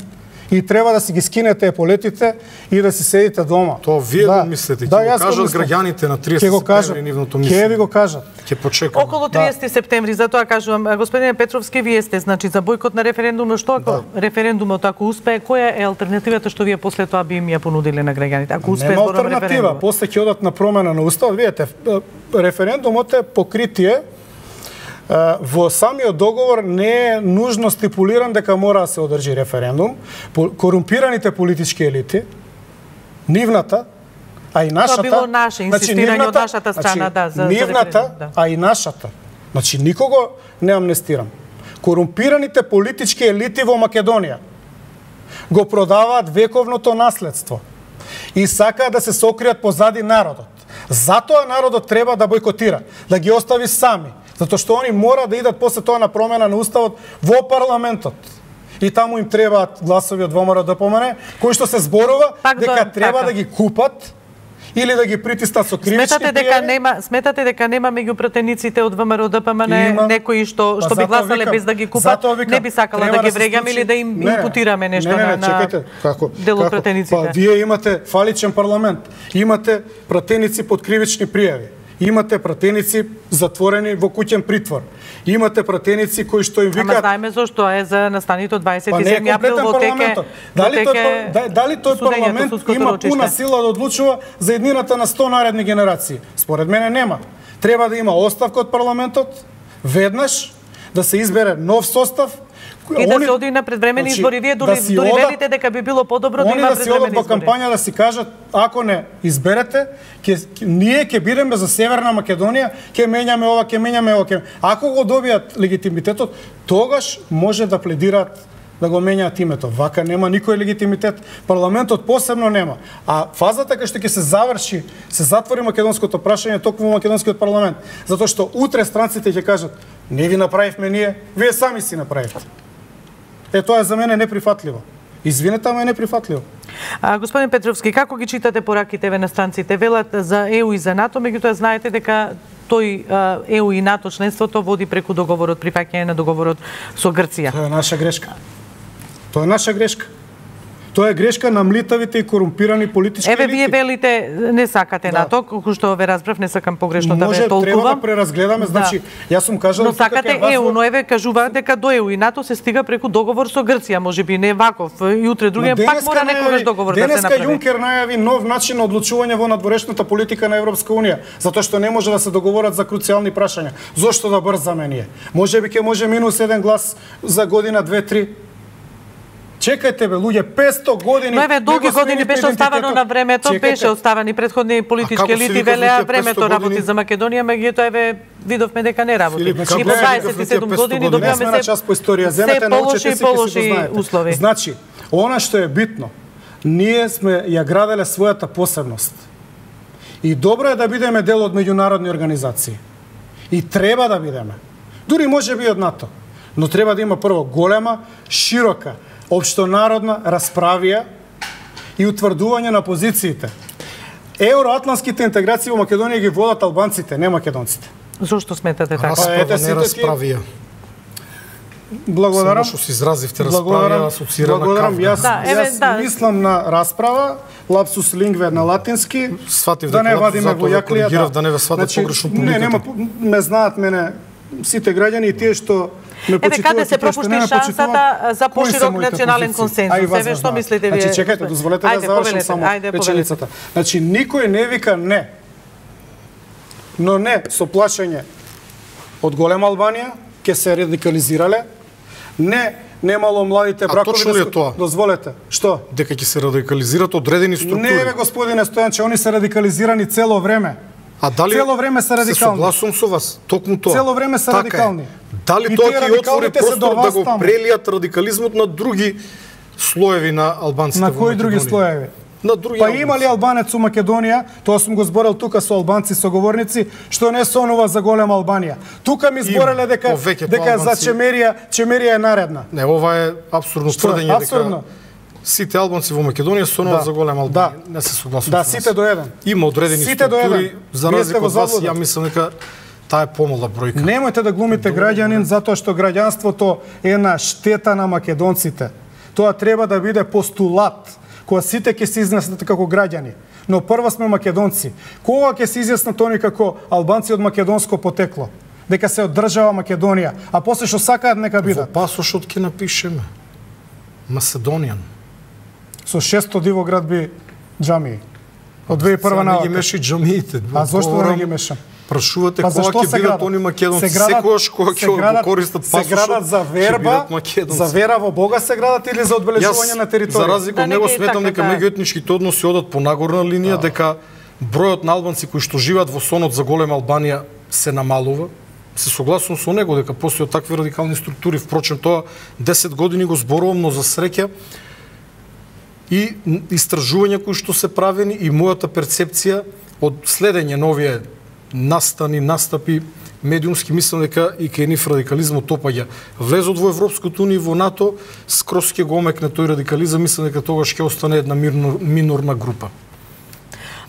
И треба да си ги скинете еполетите и да си седите дома. Тоа вие да. го мислите, ќе да, го кажат граѓаните на триесети септември нивното мислење. Ќе ви го кажат. Ќе почекам. Околу триесети септември, затоа кажувам, господине Петровски, вие сте значи за бојкот на референдум, но што ако да. референдумот ако успее, која е алтернативата што вие после тоа би им ја понудиле на граѓаните? Ако успее зборот на референдум. После ќе одат на промена на уставот, видете, референдумот е покритие. Во самиот договор не е нужно стипулиран дека мора да се одржи референдум. Корумпираните политички елити, нивната, а и нашата... Тоа било наше инсистирање значи, од нашата страна, значи, да, за, нивната, за да. а и нашата. Значи, никого не амнестирам. Корумпираните политички елити во Македонија го продаваат вековното наследство и сакаат да се сокријат позади народот. Затоа народот треба да бојкотира, да ги остави сами. Затоа што они мора да идат после тоа на промена на уставот во парламентот. И таму им требаат гласови од ВМРО да помане, кои што се зборува Пак дека до, треба така. да ги купат или да ги притиснат со кривички сметате дека нема сметате дека нема меѓу пратениците од ВМРО да помане некои што што би гласале без да ги купат, викам, не би сакала да ги да врегам или да им не, импутираме нешто не, не, не, на чекайте, како, дел од пратениците. Па вие имате фаличен парламент, имате пратеници под кривични пријави. Имате пратеници затворени во куќен притвор. Имате пратеници кои што им викаат... Ама знаеме зошто е за настаните од дваесет и седми април во теке... Дали тој, дали тој парламент има пуна сила да одлучува за еднината на сто наредни генерации? Според мене нема. Треба да има оставка од парламентот, веднаш, да се избере нов состав, и да се оди на предвремени значи, избори. Вие дури, да дури ода, велите дека би било подобро да има предвремени избори. Они да си одат во кампања да си кажат, ако не изберете, ке, ние ќе бидеме за Северна Македонија, ќе менјаме ова, ќе менјаме ова. Ке... Ако го добијат легитимитетот, тогаш може да пледираат да го менјаат името. Вака нема никој легитимитет. Парламентот посебно нема. А фазата кај што ќе се заврши, се затвори македонското прашање токму во македонскиот парламент. Затоа што утре странците ќе кажат, не ви направивме ние, вие сами си направивте. Е, тоа е за мене неприфатливо. Извинете, ама е неприфатливо. А, господин Петровски, како ги читате пораките ве на странците? Велат за Е У и за НАТО, меѓутоа знаете дека тој Е У и НАТО членството води преку договорот, прифаќање на договорот со Грција. Тоа е наша грешка. Тоа е наша грешка. Тоа е грешка на млитавите и корумпирани политички елити. Еве вие велите не сакате да. НАТО, колку што ве разбрав, не сакам погрешно да ве толкувам. Може треба да преразгледаме, значи да. Јас сум кажал но сакате Е У, но еве кажуваат дека до Е У и НАТО се стига преку договор со Грција, можеби не ваков, и утре другиот пак мора некогаш договор да се направи. Денеска Јункер најави нов начин на одлучување во надворешната политика на Европска унија, затоа што не може да се договорат за круцијални прашања. Зошто да брзаме ние? Можеби ќе може минус еден глас за година две три. Чекајте бе, луѓе, петсто години... Но еве, долги години беше оставено на времето, чекайте. Беше оставени претходни политички елити, велеа времето работи за Македонија, меѓутоа еве видовме дека не работи. Филип, и по дваесет и седум години добиваме се, час по историја. Се полоши и полоши услови. Значи, она што е битно, Ние сме ја граделе својата посебност. И добро е да бидеме дел од меѓународни организации. И треба да бидеме. Дури може би од НАТО. Но треба да има прво голема, широка, општонародна расправија и утврдување на позициите. Евроатлантските интеграции во Македонија ги водат албанците, не македонците. Зошто сметате така? Расправа, не расправија. Благодарам. Само што се изразивте расправија, асоцира на кавга. Јас, да, еве, јас да. мислам на расправа, лапсус лингве на латински, Сватив да дека не лапсус вадиме затоа во да јаклија. коригирав, да не ве сватат погрешно Не, нема, публиката. ме знаат мене сите граѓани и тие што ме Еве почитуваат. каде се и тие што пропушти не ме шансата почитуваат, за кои се поширок моите национален позиции? консензус? А и вас Еве ме што знаат. мислите вие? Значи чекајте, дозволете да завршам само ајде, реченицата. Значи никој не вика не. Но не со плашење од голема Албанија ќе се радикализирале. Не немало младите бракови. точно ли е тоа? Дозволете. Што? Дека ќе се радикализират одредени структури. Не, бе, господине Стојанче, они се радикализирани цело време. А дали Цело време се радикални. Се согласувам со вас, токму тоа. Цело време се Така радикални. Е. Дали И тоа тие ќе отвори радикалните се до простор да вас го таму. прелијат радикализмот на други слоеви на албанците На во кои други Македонија? слоеви? На други Па албанци. има ли албанец у Македонија, тоа сум го зборел тука со албанци соговорници, што не сонува за голема Албанија. Тука ми збореле дека повеќето дека за албанци- Чемерија, Чемерија е наредна. Не, ова е апсурдно Што е? тврдење Апсурдно? дека сите албанци во Македонија сонуваат Да. за голема Албанија. Да. Не се согласувам Да, со сите вас. до еден. Има одредени Сите до структури, еден. за Вие разлика сте од во вас, заблуда. ја мислам дека таа е помала бројка. Немојте да глумите граѓанин затоа што граѓанството е на штета на македонците. Тоа треба да биде постулат кога сите ќе се изнесат како граѓани. Но прво сме македонци. Кога ќе се изјаснат они како албанци од македонско потекло? Дека се од држава Македонија, а после што сакаат нека Во бидат. пасошот ќе напишеме Macedonian. Со шесто дивоградби џамии. Од две тисячи и прва Сега не ги навака. меши џамиите. А зошто да не Говорам, ги мешам? Прашувате Па кога зашто ќе се бидат градат? они македонци, Се градат- секогаш кога се ќе го градат- користат се пасошот, градат за ќе верба, бидат македонци. за вера во Бога се градат или за одбележување на Јас, територија? за разлика Да, од не него, ги е сметам така, дека да. меѓуетничките односи одат по нагорна линија, дека бројот на албанци кои што живеат во сонот за голема Албанија се намалува. Се согласувам со него дека постојат такви радикални структури. Впрочем, тоа десет години го зборувам, но за среќа и истражувања кои што се правени и мојата перцепција од следење на овие настани, настапи медиумски, мислам дека и кај нив радикализмот опаѓа. Влезот во Европското унија и во НАТО, скрос ќе го омекне тој радикализам, мислам дека тогаш ќе остане една мирно, минорна група.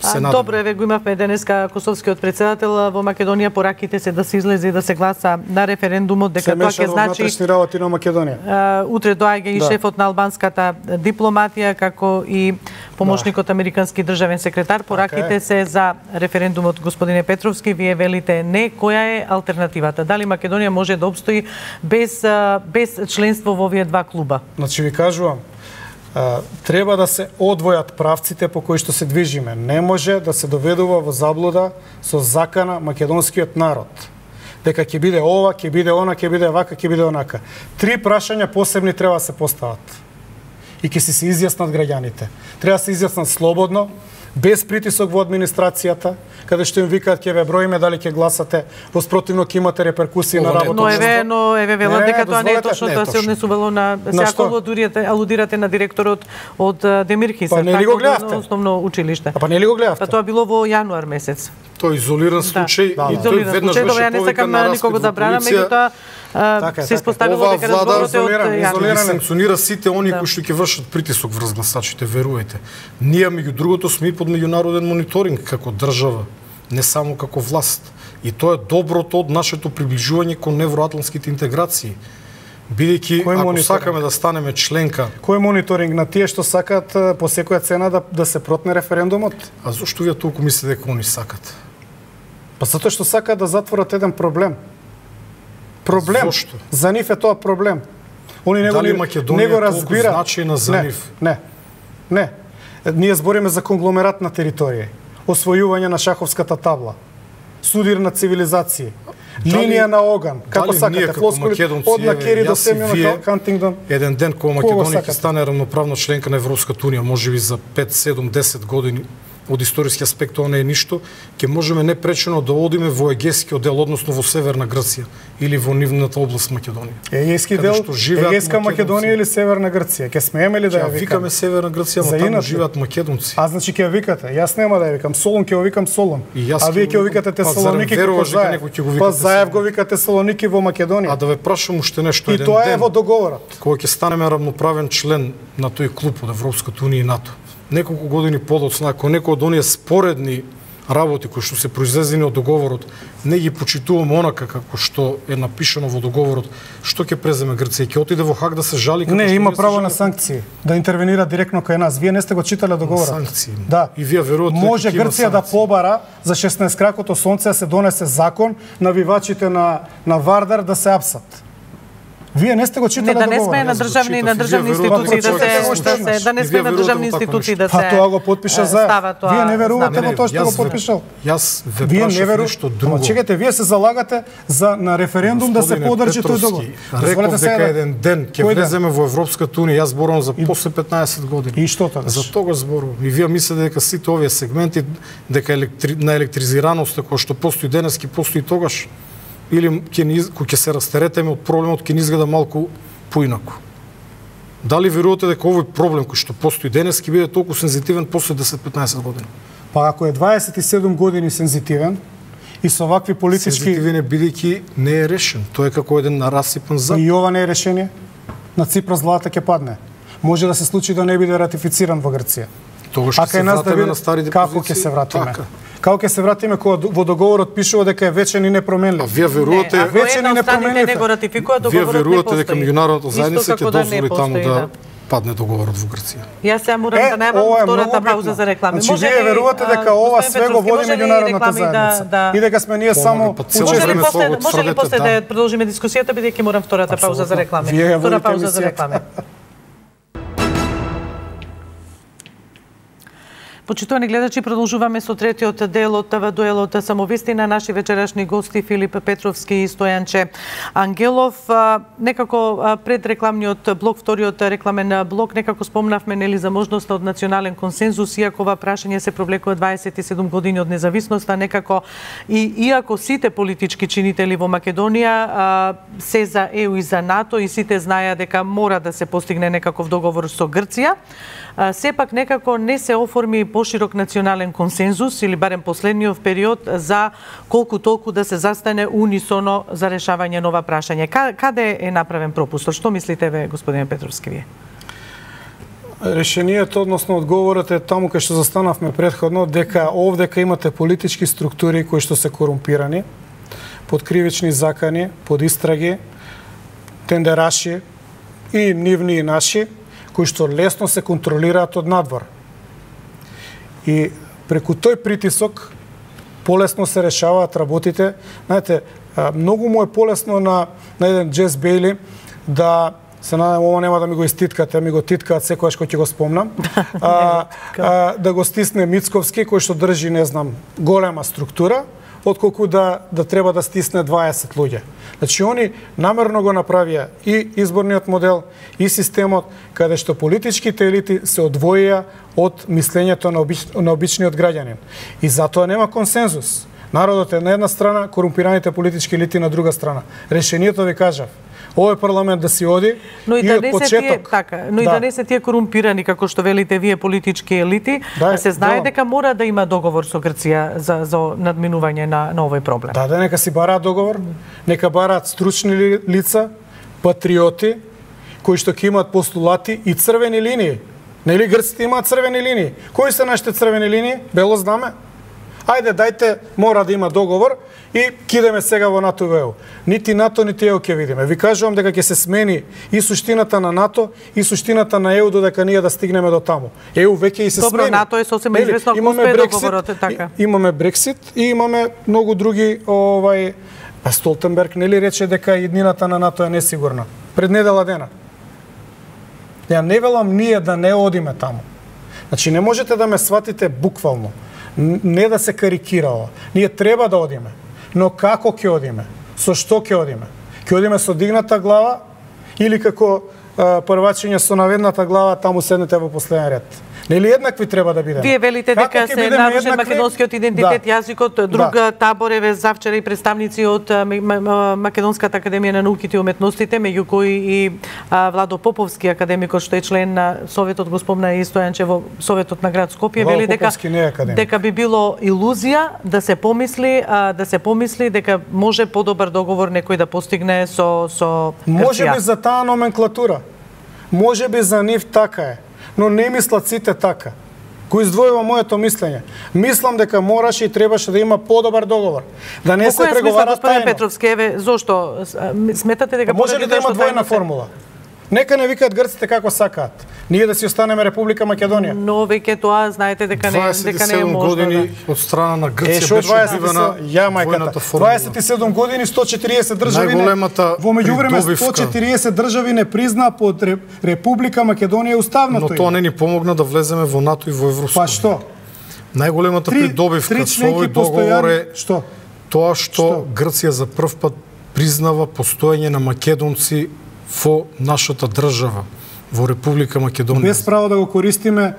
А, добро, еве го имавме денеска Косовскиот претседател во Македонија, пораките се да се излезе и да се гласа на референдумот, дека тоа ќе значи внатрешни работи на Македонија. Uh, утре доаѓа и Да. шефот на албанската дипломатија, како и помошникот американски државен секретар. Пораките е. се за референдумот, господине Петровски. Вие велите не. Која е алтернативата? Дали Македонија може да обстои без, uh, без членство во овие два клуба? Значи ви кажувам, а, треба да се одвојат правците по кои што се движиме. Не може да се доведува во заблуда со закана македонскиот народ. Дека ќе биде ова, ќе биде она, ќе биде вака, ќе биде онака. Три прашања посебни треба да се постават. И ќе си се изјаснат граѓаните. Треба да се изјаснат слободно, без притисок во администрацијата, каде што им викаат ќе ве броиме дали ќе гласате, во спротивно ќе имате реперкусии на Ова не е работата. Но еве, но еве велат Не, дека тоа не е дозволете, точно, не е тоа се точно. однесувало на На сега што? алудирате, алудирате на директорот од а, Демирхиса, Па не ли го гледавте? основно училиште. А па не ли го гледавте? Па тоа било во јануар месец. Тој изолиран случај Да, и да. тој Изолиран веднаш случај, добро, беше ја не повикан сакам на никого распит да во бранам, полиција. меѓутоа а, Така е, се така е. испоставило Оваа дека влада разговорот е од изолиран, јануар. изолиран. Ги санкционира сите они Да. кои што ќе вршат притисок врз гласачите, верувајте. Ние меѓу другото сме и под меѓународен мониторинг како држава, не само како власт. И тоа е доброто од нашето приближување кон евроатлантските интеграции. Бидејќи, Кој ако мониторинг? сакаме да станеме членка, Кој мониторинг на тие што сакаат е, по секоја цена да, да се протне референдумот? а зошто вие толку мислите дека они сакат? Па затоа што сакаат да затворат еден проблем. Проблем. Зошто? За нив е тоа проблем. Они не го, Дали не, Македонија не го е толку разбира. значајна за не, нив? Не, не. Е, Ние збориме за конгломератна територија, освојување на шаховската табла, судир на цивилизации, Дали- линија на оган, како дали ние сакате, како флоскули македонци, од на еве, Кери до јас и Семјон вие, Хантингдон. еден ден кога Кого Македонија ќе сакате? стане рамноправна членка на Европската унија, можеби за пет, седум, десет години, од историски аспект тоа не е ништо, ќе можеме непречено да одиме во егејскиот дел, односно во Северна Грција или во нивната област Македонија. Егејски дел, Егејска Македонија или Северна Грција? Ќе смееме ли да ја викаме? Викаме Северна Грција, но таму живеат македонци. А значи ќе ја викате? Јас нема да ја викам Солун, ќе ја викам Солун. А вие ќе ја викате Тесалоники како Заев. Па Заев го викате Тесалоники во Македонија. А да ве прашам уште нешто еден ден. И тоа е во договорот. Кога ќе станеме рамноправен член на тој клуб од Европската унија и НАТО. Неколку години подоцна, ако некој од оние споредни работи кои што се произлезени од договорот не ги почитуваме онака како што е напишано во договорот, што ќе преземе Грција? Ќе отиде во Хаг да се жали? Не, има право на санкции, да интервенира директно кај нас. Вие не сте го читале договорот. Санкции. Да. И вие верувате може Грција да побара за шеснаесет кракото сонце да се донесе закон навивачите на на Вардар да се апсат. Вие не сте го читале договорот. Не, да не сме на државни на државни институции да се да не сме на државни институции да се. А тоа го потпиша Заев. Вие не верувате во тоа што го потпишал. Јас ве прашав нешто друго. Чекайте, вие се залагате за на референдум да се подржи тој договор. Реков дека еден ден ќе влеземе во Европската унија, јас зборувам за после петнаесет години. И што тогаш? За тоа зборувам. И вие мислите дека сите овие сегменти дека на електризираноста која што постои денески постои тогаш? Или ќе ни кога ќе се растеретеме од проблемот ќе ни изгледа малку поинаку. Дали верувате дека овој проблем кој што постои денес ќе биде толку сензитивен после десет-петнаесет години? Па ако е дваесет и седум години сензитивен и со вакви политички сензитивен бидејќи не е решен, тоа е како еден нарасипан зад. И ова не е решение. На Ципрас злата ќе падне. Може да се случи да не биде ратифициран во Грција. Тогаш ќе се вратиме на старите позиции. Како ќе се вратиме? Како ќе се вратиме кога во договорот пишува дека е вечен и непроменлив? А вие верувате, вечен и непроменлив. Не го ратификува договорот. Вие верувате дека меѓународната заедница ќе дозволи таму да падне договорот во Грција? Јас се морам да најавам втората пауза за реклами. Значи вие верувате дека ова све го води меѓународната заедница и дека сме ние само учесници. Може ли после да продолжиме дискусијата бидејќи морам втората пауза за реклами? Втора пауза за реклами. Почитувани гледачи, продолжуваме со третиот дел од ТВ дуелот самовистина. Наши вечерашни гости Филип Петровски и Стојанче Ангелов. Некако пред рекламниот блок, вториот рекламен блок, некако спомнавме нели за можноста од национален консензус, иако ова прашање се проблекува дваесет и седум години од независноста, некако и иако сите политички чинители во Македонија се за ЕУ и за НАТО и сите знаеа дека мора да се постигне некаков договор со Грција, сепак некако не се оформи поширок национален консензус или барем последниот период за колку толку да се застане унисоно за решавање на ова прашање. Каде е направен пропуст? Што мислите ве, господине Петровски, вие? Решението, односно одговорот е таму кај што застанавме претходно, дека овдека имате политички структури кои што се корумпирани, под кривични закани, под истраги, тендераши и нивни и наши, кои што лесно се контролираат од надвор. И преку тој притисок полесно се решаваат работите. Знаете, многу му е полесно на, на еден Джес Бейли да се надам ова нема да ми го иститкате, ми го титкаат секогаш кога ќе го спомнам. а, а, да го стисне Мицковски кој што држи, не знам, голема структура, отколку да да треба да стисне дваесет луѓе. Значи они намерно го направија и изборниот модел и системот каде што политичките елити се одвоија од мислењето на, обич, на обичниот граѓанин. И затоа нема консензус. Народот е на една страна, корумпираните политички елити на друга страна. Решението ви кажав. Овој парламент да си оди, но и, и да од не почеток. Се тие, така, но да. И да не се тие корумпирани, како што велите вие, политички елити, да, се знае да. Дека мора да има договор со Грција за, за надминување на, на овој проблем. Да, да, нека си бараат договор, нека бараат стручни лица, патриоти, кои што ќе имаат постулати и црвени линии. Нели грците имаат црвени линии? Кои се нашите црвени линии? Бело знаме. Ајде, дајте, мора да има договор и кидеме сега во НАТО и ЕУ. Нити НАТО, нити ЕУ ќе видиме. Ви кажувам дека ќе се смени и суштината на НАТО и суштината на ЕУ додека ние да стигнеме до таму. ЕУ веќе и се Добро, смени. Добро, НАТО е сосема известно ако успее договорот, така. Имаме Брексит и имаме многу други, овај, а Столтенберг нели рече дека иднината на НАТО е несигурна пред недела дена. Ја не велам ние да не одиме таму. Значи не можете да ме сватите буквално. Не да се карикира ова. Ние треба да одиме. Но како ќе одиме? Со што ќе одиме? Ќе одиме со дигната глава или како а, првачење со наведната глава, таму седнете во последен ред? Нели еднакви треба да бидеме? Вие велите Како дека ќе се бидеме нарушен еднакви? македонскиот идентитет, Да. јазикот, друг Да. табор еве завчера и представници од а, М- М- Македонската академија на науките и уметностите, меѓу кои и а, Владо Поповски, академикот што е член на Советот, го спомна и Стојанче во Советот на град Скопје, Владо вели дека Поповски не е академик. дека би било илузија да се помисли, а, да се помисли дека може подобар договор некој да постигне со со Може Грција. би за таа номенклатура. Може би за нив така е, но не мислат сите така. Кој издвојува моето мислење. Мислам дека мораше и требаше да има подобар договор. Да не Во се која смисла, преговара господин тајно. Петровски, еве, зошто сметате дека Може поради ли да тоа има што двојна тајно се- формула? Нека не викаат грците како сакаат. Ние да си останеме Република Македонија. Но веќе тоа знаете дека не дека не е можно. години Да. од страна на Е, Грција шо беше дваесет и одбивана седум ја мајката. војната формула. дваесет и седум години, сто и четириесет држави. не- Најголемата Во меѓувреме придобивка. сто и четириесет држави не призна под Ре- Република Македонија Но уставното тоа име. не ни помогна да влеземе во НАТО и во Европска. Па што? Најголемата Три- придобивка три со овој членки договор постојани- е Што? тоа што Што? Грција за прв пат признава постоење на македонци во нашата држава, во Република Македонија. Без право да го користиме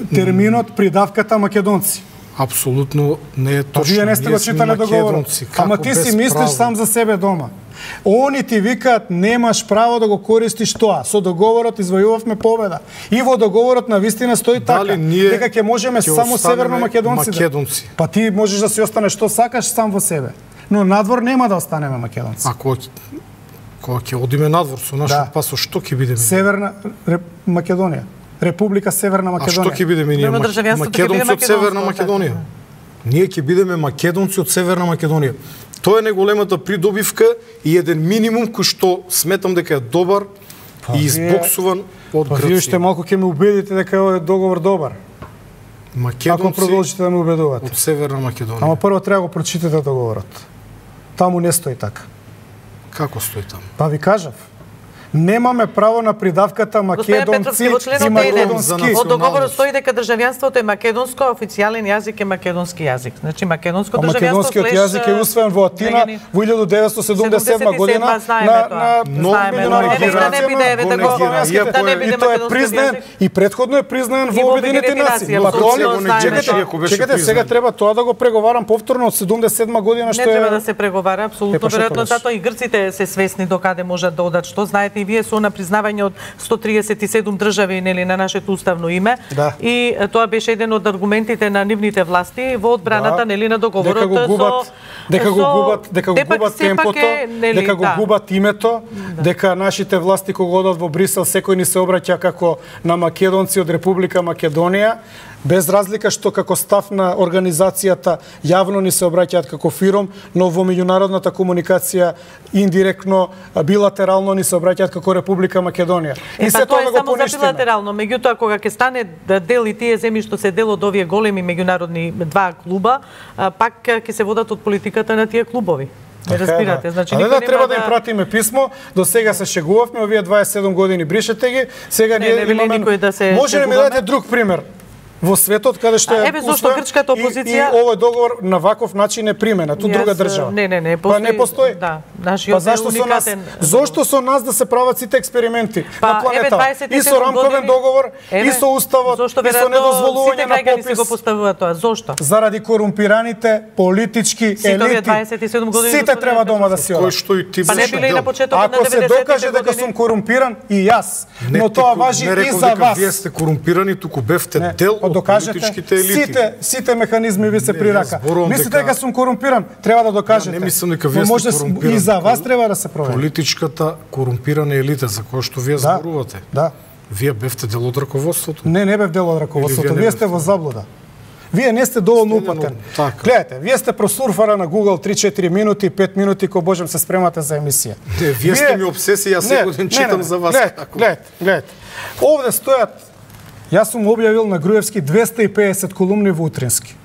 терминот придавката македонци. Апсолутно не е Па точно. вие не сте Ние го сме читале договорот. македонци. Ама Како ти си без мислиш право? сам за себе дома. Они ти викаат немаш право да го користиш тоа. Со договорот извојувавме победа. И во договорот на вистина стои така Дали ние дека ќе можеме ќе само останеме северно македонци. македонци? Па ти можеш да си останеш што сакаш сам во себе. Но надвор нема да останеме македонци. А кога кога ќе одиме надвор со нашиот Да. пасо, што ќе бидеме? Северна Реп... Македонија. Република Северна А што Македонија. ќе бидеме ние? Према Мак- државјанството ќе биде Македонци од Северна македонско, Македонија. Ние ќе бидеме македонци од Северна Македонија. Тоа е најголемата придобивка и еден минимум кој што сметам дека е добар Па и вие- избоксуван од Па вие уште Грција. малку ќе ме убедите дека овој договор добар. Ако Македонци продолжите да ме убедувате. од Северна Македонија. Ама прво треба да го прочитате договорот. Таму не стои така. Како стои таму? Па ви кажав. Немаме право на придавката Господин Петровски, македонци во и членот еден македонски. во договорот стои дека државјанството е македонско, а официјален јазик е македонски јазик. Значи македонско А државјанство македонскиот слеш, јазик е усвоен во Атина граѓани- во илјаду деветстотини седумдесет и седма година знаеме на тоа. на Знаеме, меѓународна но нека да не биде, еве, го да го- негира. да не биде и тоа е македонскиот признаен јазик. и претходно е признаен И во во Обединетите Обединетите нации. нации, Па тоа апсолутно ли- знаеме чекайте, тоа. Ако беше чекайте, признан. сега треба тоа да го преговарам повторно од седумдесет и седма година што Не е треба да се преговара, Е, апсолутно па што веројатно, тогаш? затоа и грците се свесни до каде можат да одат. Што знаете и вие со на признавање од сто триесет и седум држави нели на нашето уставно име. Да. И е, тоа беше еден од аргументите на нивните власти во одбраната Да. нели на договорот дека го губат, со дека го со- губат, дека го Те пак губат сепак темпото, е, нели, дека го да. губат името, дека нашите власти кога одат во Брисел секој ни се обраќа како на македонци од Република Македонија, без разлика што како став на организацијата јавно ни се обраќаат како фиром, но во меѓународната комуникација индиректно, билатерално ни се обраќаат како Република Македонија. Е, па тоа е да го само за поништиме. билатерално, меѓутоа кога ќе стане да дел и тие земји што се дел од овие големи меѓународни два клуба, а, пак ќе се водат од политиката на тие клубови. Не Така е, разбирате, да. значи Але никој да нема треба да им пратиме писмо, до сега се шегувавме, овие дваесет и седум години бришете ги, сега Не, ние не вели имаме никој да се Може ли ми шегуваме? дадете друг пример? Во светот каде што А, е еве зошто усвоен грчката и- опозиција- и, овој договор на ваков начин е применат од друга Јас, држава. Не, не, не, Па постои. не постои. Да, нашиот Па зашто е со нас? уникатен. Зошто со нас да се прават сите експерименти Па, на еве, планета? дваесет и И со седум рамковен години- договор, и Еве, со уставот, зошто и со веројатно недозволување сите на граѓани си го попис. поставуваат тоа. Зошто? Заради корумпираните политички Сите овие елити. дваесет и седум години, Сите господин треба дома да си Кој одат. што и ти Па не беше биле и на дел. почетокот на Ако се деветдесетите докаже дека години? сум корумпиран и јас, Не но ти тоа ко- важи не и рекол за дека вас. Вие сте корумпирани, туку бевте Не, дел па од докажете, политичките елити. Сите, сите механизми ви се Не, прирака. јас зборувам Мислите дека- дека сум корумпиран, треба да докажете. Ја не мислам дека вие Но сте може с- корумпиран. И за вас треба да се провери. Политичката корумпирана елита за која што вие Да, зборувате. да. Вие бевте дел од раководството. Не, не бев дел од раководството. Или вие не Вие сте бевте? во заблуда. Вие не сте доволно Сте упатен. едно- така. Гледате, вие сте просурфара на Google три-четири минути, пет минути кој можем се спремате за емисија. Не, вие сте ми обсесија, јас секој ден читам за вас. Гледате, како. гледате, гледате. Овде стојат, јас сум објавил на Груевски двесте и педесет колумни во Утрински.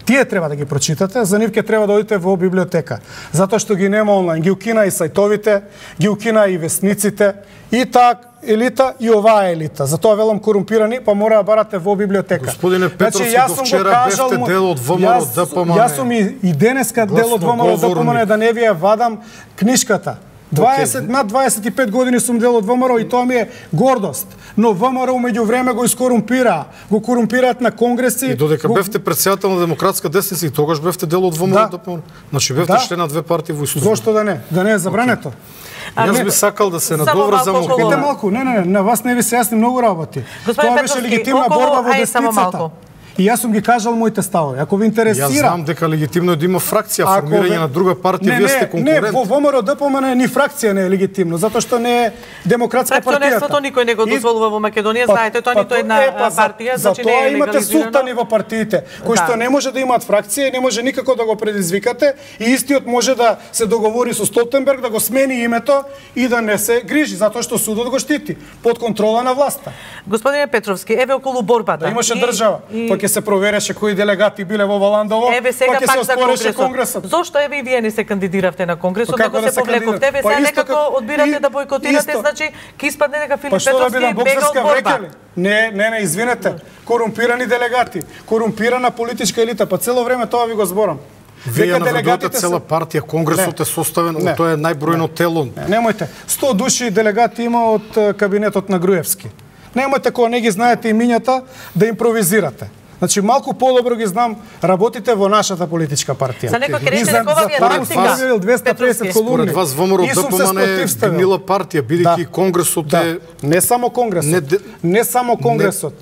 Тие треба да ги прочитате, за нив ќе треба да одите во библиотека. Затоа што ги нема онлайн. Ги укина и сајтовите, ги укина и весниците, и таа елита и оваа елита. Затоа велам корумпирани, па мора да барате во библиотека. Господине Петровски, јас до сум го вчера кажал бевте му- дел од ВМРО јас- ДПМН. Јас сум и, и денеска дел од ВМРО ДПМН Гласноговорник. да не ви ја вадам книшката. дваесет, над дваесет и пет години сум дел од ВМРО и тоа ми е гордост. Но ВМРО меѓу време го искорумпира, го корумпираат на конгреси. И додека го... бевте председател на демократска десница и тогаш бевте дел од ВМРО, да. Да, значи бевте да. член на две партии во исто. Зошто да не? Да не е забрането. Okay. Јас би сакал да се надоврзам. Чекайте малку, не, не, не, на вас не ви се јасни многу работи. Господин Тоа беше легитимна около... борба во Ај, десницата. И јас сум ги кажал моите ставови. Ако ви интересира... Јас знам дека легитимно е да има фракција, формирање на друга партија, вие сте конкурент. Не, во ВМРО ДПМН ни фракција не е легитимно, затоа што не е демократска партија. Фракционерството никој не го дозволува во Македонија, знаете, тоа ниту една партија, значи не е легализирано. Затоа имате султани во партиите, кои што не може да имаат фракција и не може никако да го предизвикате, и истиот може да се договори со Столтенберг да го смени името и да не се грижи, затоа што судот го штити под контрола на власта. Господине Петровски, еве околу борбата. Да имаше држава, па ќе се провереше кои делегати биле во Валандово, еве сега па ќе се оспореше конгресот. Зошто еве и вие не се кандидиравте на конгресот, него да се повлековте? Еве сега некако одбирате да бойкотирате, значи ќе испадне дека Филип Петровски бега од борба. Не, не, не, извинете. Корумпирани делегати, корумпирана политичка елита, па цело време тоа ви го зборам. Вие наведувате цела партија, конгресот е составен, од тоа е најбројно тело. Немојте, сто души делегати има од кабинетот на Груевски. Немојте кога не ги знаете имињата да импровизирате. Значи малку подобро ги знам работите во нашата политичка партија. За некој ќе рече дека ова ви е тактика. двеста песет колумни. Според вас ВМРО ДПМН е гнила партија, бидејќи конгресот е... Не само конгресот. Не само конгресот.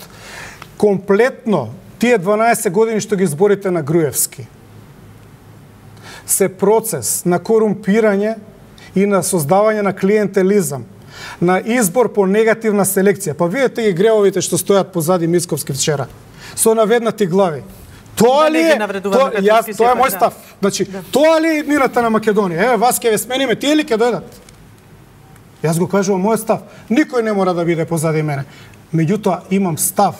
Комплетно тие дванаесет години што ги зборите на Груевски се процес на корумпирање и на создавање на клиентелизам, на избор по негативна селекција. Па видете ги гревовите што стојат позади Мицковски вчера. Со наведнати глави. Тоа ли е? Тоа, јас, тоа е мој став. Значи, да. Тоа ли е иднината на Македонија? Еве, вас ќе ве смениме, тие ли ќе дојдат? Јас го кажувам мојот став. Никој не мора да биде позади мене. Меѓутоа, имам став.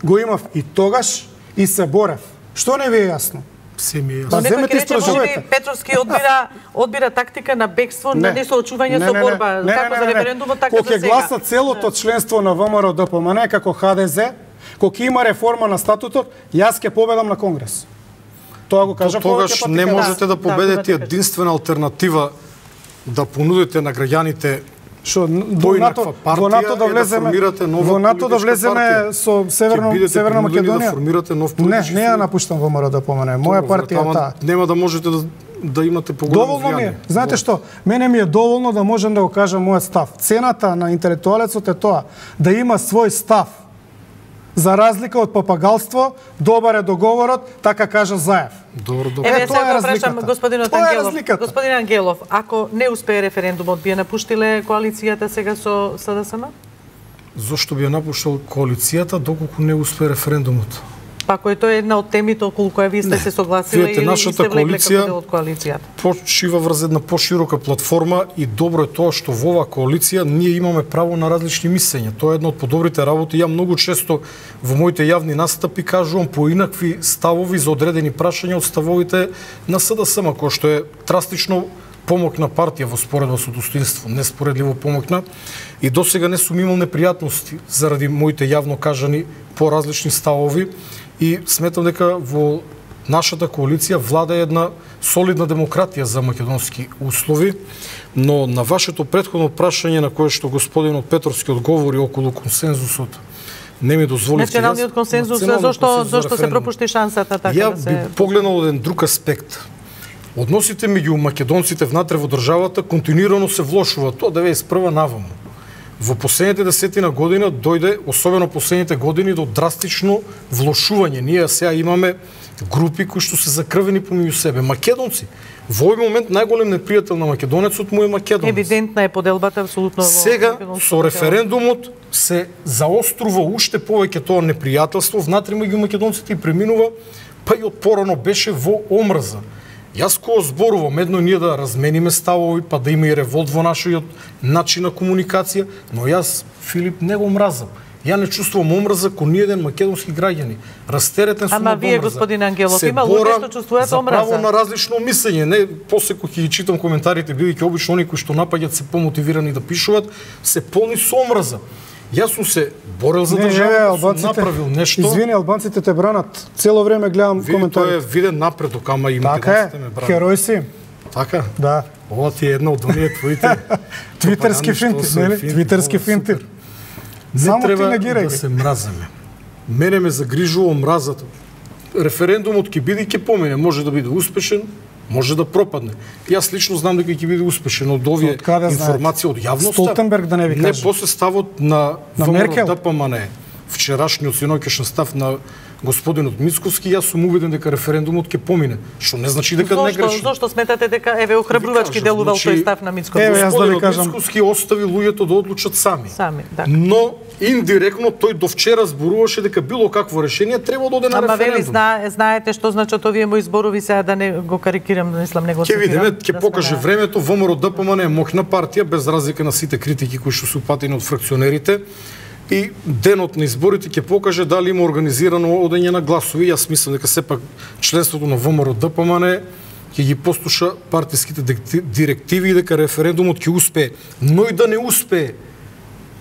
Го имав и тогаш, и се борев. Што не ви е јасно? Се ми е јасно. Па земете истражување. Петровски одбира одбира тактика на бегство, не. на несоочување со борба, не, како не, за не, референдумот, така за сега. Кога ќе гласа целото членство на ВМРО ДПМН како Х Д З, кога има реформа на статутот, јас ќе победам на Конгрес. Тоа го кажа тогаш не можете да победите единствена алтернатива да понудите на граѓаните што во НАТО во НАТО да влеземе во НАТО да влеземе со Северно Северна Македонија да формирате нов политички. Не, не ја напуштам ВМРО ДПМН. Моја партија е таа. Нема да можете да да имате поголемо влијание. Доволно ми е. Знаете што? Мене ми е доволно да можам да го кажам мојот став. Цената на интелектуалецот е тоа да има свој став. За разлика од папагалство, добар е договорот, така кажа Заев. Добро, добро. Еве сега го прашам господинот Ангелов. Господин Ангелов, ако не успее референдумот, би ја напуштиле коалицијата сега со С Д С М? Зошто би ја напуштил коалицијата доколку не успее референдумот? Па кој тоа е една од темите околу која ви сте се согласиле или сте влекле како дел од коалицијата? Почива врз една поширока платформа и добро е тоа што во оваа коалиција ние имаме право на различни мислења. Тоа е една од подобрите работи. Ја многу често во моите јавни настапи кажувам поинакви ставови за одредени прашања од ставовите на С Д С М, кој што е драстично помокна партија во споредба со достоинство, неспоредливо помокна, и досега не сум имал непријатности заради моите јавно кажани поразлични ставови. И сметам дека во нашата коалиција влада една солидна демократија за македонски услови, но на вашето претходно прашање на кое што господинот Петровски одговори околу консензусот, не ми дозволите. Националниот консензус, зошто зошто се пропушти шансата така ја да се... Ја би погледнал еден друг аспект. Односите меѓу македонците внатре во државата континуирано се влошуваат, тоа деветдесет и прва наваму. Во последните десетина година дојде, особено последните години, до драстично влошување. Ние сега имаме групи кои што се закрвени помеѓу себе. Македонци. Во овој момент најголем непријател на македонецот му е македонец. Евидентна е поделбата апсолутно во сега со референдумот се заострува уште повеќе тоа непријателство внатре меѓу македонците и преминува, па и од порано беше во омрза. Јас кога зборувам едно ние да размениме ставови, па да има и револт во нашиот начин на комуникација, но јас, Филип, не го мразам. Ја не чувствувам омрза кон ниеден македонски граѓани. Растеретен сум од омрза. Ама вие, господин Ангелов, има луѓе што чувствуваат омрза. За право на различно мислење. Не, после кога ќе ги читам коментарите, бидејќи обично оние кои што напаѓаат се помотивирани да пишуваат, се полни со омрза. Јас сум се борел за државата, сум направил нешто. Извини, албанците те бранат. Цело време гледам коментари. Тоа е виден напредок, ама и македонците ме бранат. Така е, херој си. Така? Да. Ова ти е една од оние твоите твитерски финти, нели? Твитерски финти. Не треба да се мразиме. Мене ме загрижува омразата. Референдумот ќе биде и ќе помине, може да биде успешен, може да пропадне. Јас лично знам дека ќе биде успешен од овие информации од јавноста. Столтенберг да не ви каже. Не после ставот на ВМРО-ДПМН, вчерашниот синоќешен став на господинот Мицковски, јас сум убеден дека референдумот ќе помине. Што не значи дека не греши. Зошто сметате дека еве охрабрувачки делувал тој став на Мицковски? Еве јас да ви кажам, Мицковски остави луѓето да одлучат сами. Сами, да. Но индиректно тој до вчера зборуваше дека било какво решение треба да оде на референдум. Ама вели зна, знаете што значат овие мои зборови, сега да не го карикирам, да мислам, не го цитирам. Ќе видиме, ќе да покаже времето. ВМРО-ДПМН е моќна партија без разлика на сите критики кои што се упатени од фракционерите. И денот на изборите ќе покаже дали има организирано одење на гласови. Јас мислам дека сепак членството на ВМРО-ДПМН ќе ги послуша партиските директиви и дека референдумот ќе успее. Но и да не успее,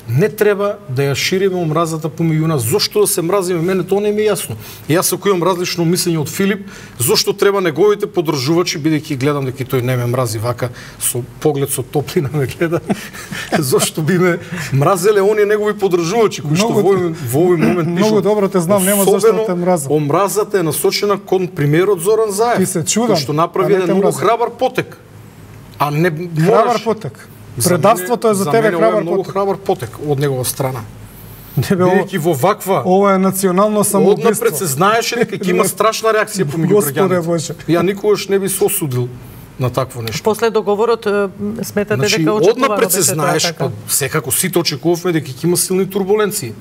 не треба да ја шириме омразата помеѓу нас. Зошто да се мразиме? Мене тоа не ми е јасно. Јас ако имам различно мислење од Филип, зошто треба неговите поддржувачи, бидејќи гледам дека тој не ме мрази вака со поглед со топлина ме гледа. Зошто би ме мразеле оние негови поддржувачи кои што во овој момент пишат. Многу добро те знам, нема зошто да те мразам. Омразата е насочена кон премиерот Зоран Заев. Ти се чудам, што направи еден многу храбар потек. А не храбар потек. Предавството е за тебе храбар потек. Многу храбар потек од негова страна. Бидејќи во ваква ова е национално самоубиство. Однапред се знаеше дека ќе има страшна реакција помеѓу граѓаните. Ја никогаш не би се осудил на такво нешто. После договорот сметате значи, дека очекувано однапред се знаеш, па секако сите очекувавме дека ќе има силни турбуленции.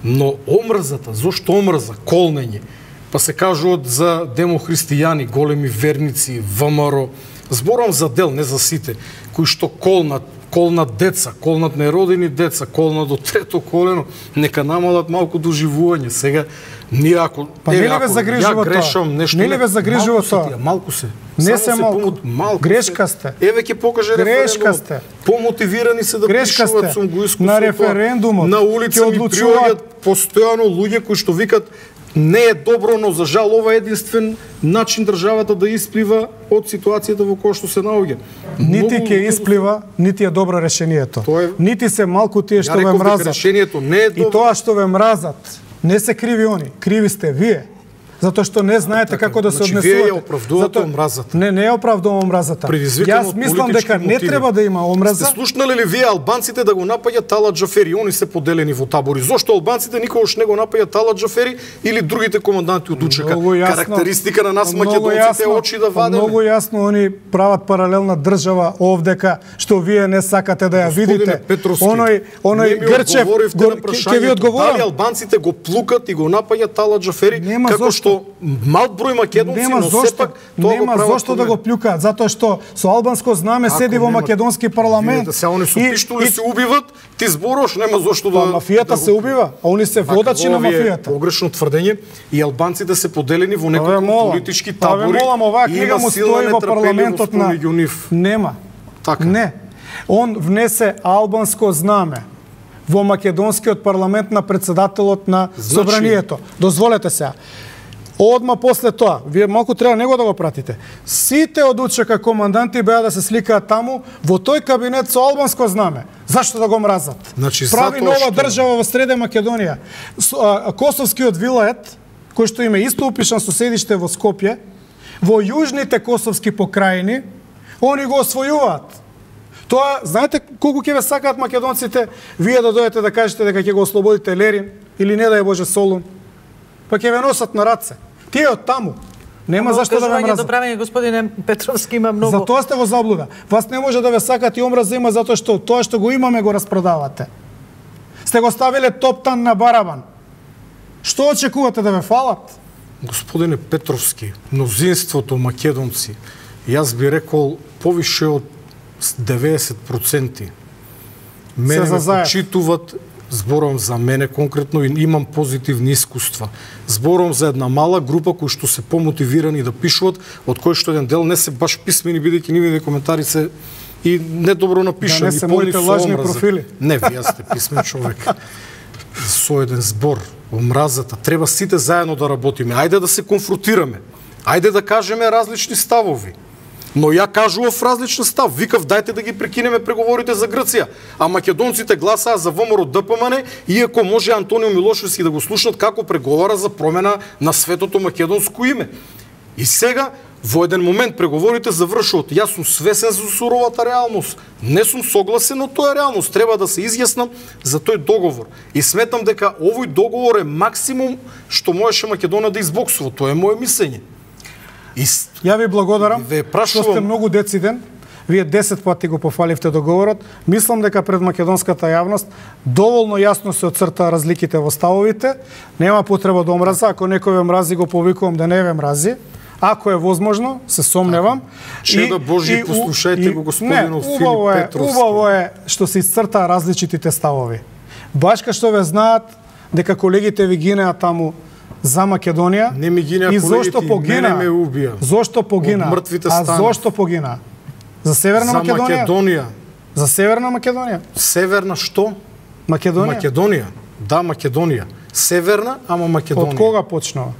Но омрзата, зошто омрза, колнење, па се кажуваат за демохристијани, големи верници, ВМРО, зборам за дел, не за сите, кои што колнат, колнат деца, колнат неродени деца, колнат до трето колено, нека намалат малку доживување. Сега, ние ако... Па не ли ве загрижува тоа? Грешам, нешто... Не ли ве загрижува тоа? Малку се. Не се малку. малку Грешка сте. Еве ќе покаже Грешка референдумот. сте. Помотивирани се да Грешка пишуваат сте. сум го искусство. На референдумот. На улица ми приоѓаат постојано луѓе кои што викат не е добро, но за жал ова е единствен начин државата да исплива од ситуацијата во која што се наоѓа. Нити ќе исплива, нити е добро решението. Е... Нити се малку тие што ве мразат. Решението не е добро. И тоа што ве мразат, не се криви они, криви сте вие. Затоа што не знаете така, како да се значи, однесувате. Вие ја оправдувате омразата. Не, не ја оправдувам омразата. Јас мислам дека не мотиви. треба да има омраза. Сте слушнали ли вие албанците да го напаѓаат Талат Џафери? Они се поделени во табори. Зошто албанците никогаш не го напаѓаат Талат Џафери или другите команданти од УЧК? Карактеристика на нас македонците е очи да вадеме. Многу јасно они прават паралелна држава овдека што вие не сакате да ја видите. Петровски, оној оној Грчев ќе ви одговорам. Дали албанците го плукат и го напаѓаат Талат Џафери како што мал број македонци, нема но зошто, сепак тоа нема го прават. Зошто да го плюкаат? Затоа што со албанско знаме Ако седи во нема, македонски парламент. Видите, се они со пиштоли се убиват, ти зборуваш, нема зошто да... Па мафијата да се убива, а они се водачи на мафијата. Погрешно тврдење и албанците се поделени во неколку политички табори. Па ве молам, оваа книга му стои во парламентот на... Нема. Така. Не. Он внесе албанско знаме во македонскиот парламент на председателот на значи... собранието. Дозволете се. Одма после тоа, вие малку треба него да го пратите. Сите од УЧК команданти беа да се сликаат таму во тој кабинет со албанско знаме. Зашто да го мразат? Значи, прави нова што... држава во Средна Македонија. Косовскиот вилает, кој што има исто упишан со седиште во Скопје, во јужните косовски покрајини, они го освојуваат. Тоа, знаете колку ќе ве сакаат македонците, вие да дојдете да кажете дека ќе го ослободите Лерин или не да е Боже Солун, па ќе ве носат на раце. Тие од таму. Нема зашто да ве мразат. Доправење, господине Петровски, има многу. Затоа сте во заблуда. Вас не може да ве сакат и омраза има затоа што тоа што го имаме го распродавате. Сте го ставиле топтан на барабан. Што очекувате да ве фалат? Господине Петровски, мнозинството македонци, јас би рекол повише од деветдесет проценти мене ме почитуваат. Зборувам за мене конкретно и имам позитивни искуства. Зборувам за една мала група кои што се помотивирани да пишуваат, од кои што еден дел не се баш писмени, бидејќи нивните коментари се и недобро напишани, да, не се полни моите со лажни омраза. профили. Не, вие сте писмен човек. Со еден збор, омразата, треба сите заедно да работиме. Ајде да се конфронтираме. Ајде да кажеме различни ставови. Но ја кажував различен став. Викав, дајте да ги прекинеме преговорите за Грција. А македонците гласаа за ВМРО Д П М Н, иако може Антонио Милошевски да го слушнат како преговара за промена на светото македонско име. И сега, во еден момент преговорите завршуваат. Јас сум свесен за суровата реалност. Не сум согласен, но тоа е реалност. Треба да се изјаснам за тој договор. И сметам дека овој договор е максимум што можеше Македонија да избоксува. Тоа е моје мислење. И... Ја ви благодарам, ве прашувам... што сте многу дециден. Вие десет пати го пофаливте договорот. Мислам дека пред македонската јавност доволно јасно се оцртаа разликите во ставовите. Нема потреба да омраза. Ако некој ве мрази, го повикувам да не ве мрази. Ако е возможно, се сомневам. Чеда Божи, послушајте го господинот Филип Петровски. Убаво е што се исцртаа различитите ставови. Баш кај што ве знаат дека колегите ви гинеа таму за Македонија. Не ми гинеа колегите, мене ме убија. Зошто погина? А зошто погина? За Северна за Македонија? Македонија. За Северна Македонија? Северна што? Македонија. Македонија. Да, Македонија. Северна, ама Македонија. Од кога почнува?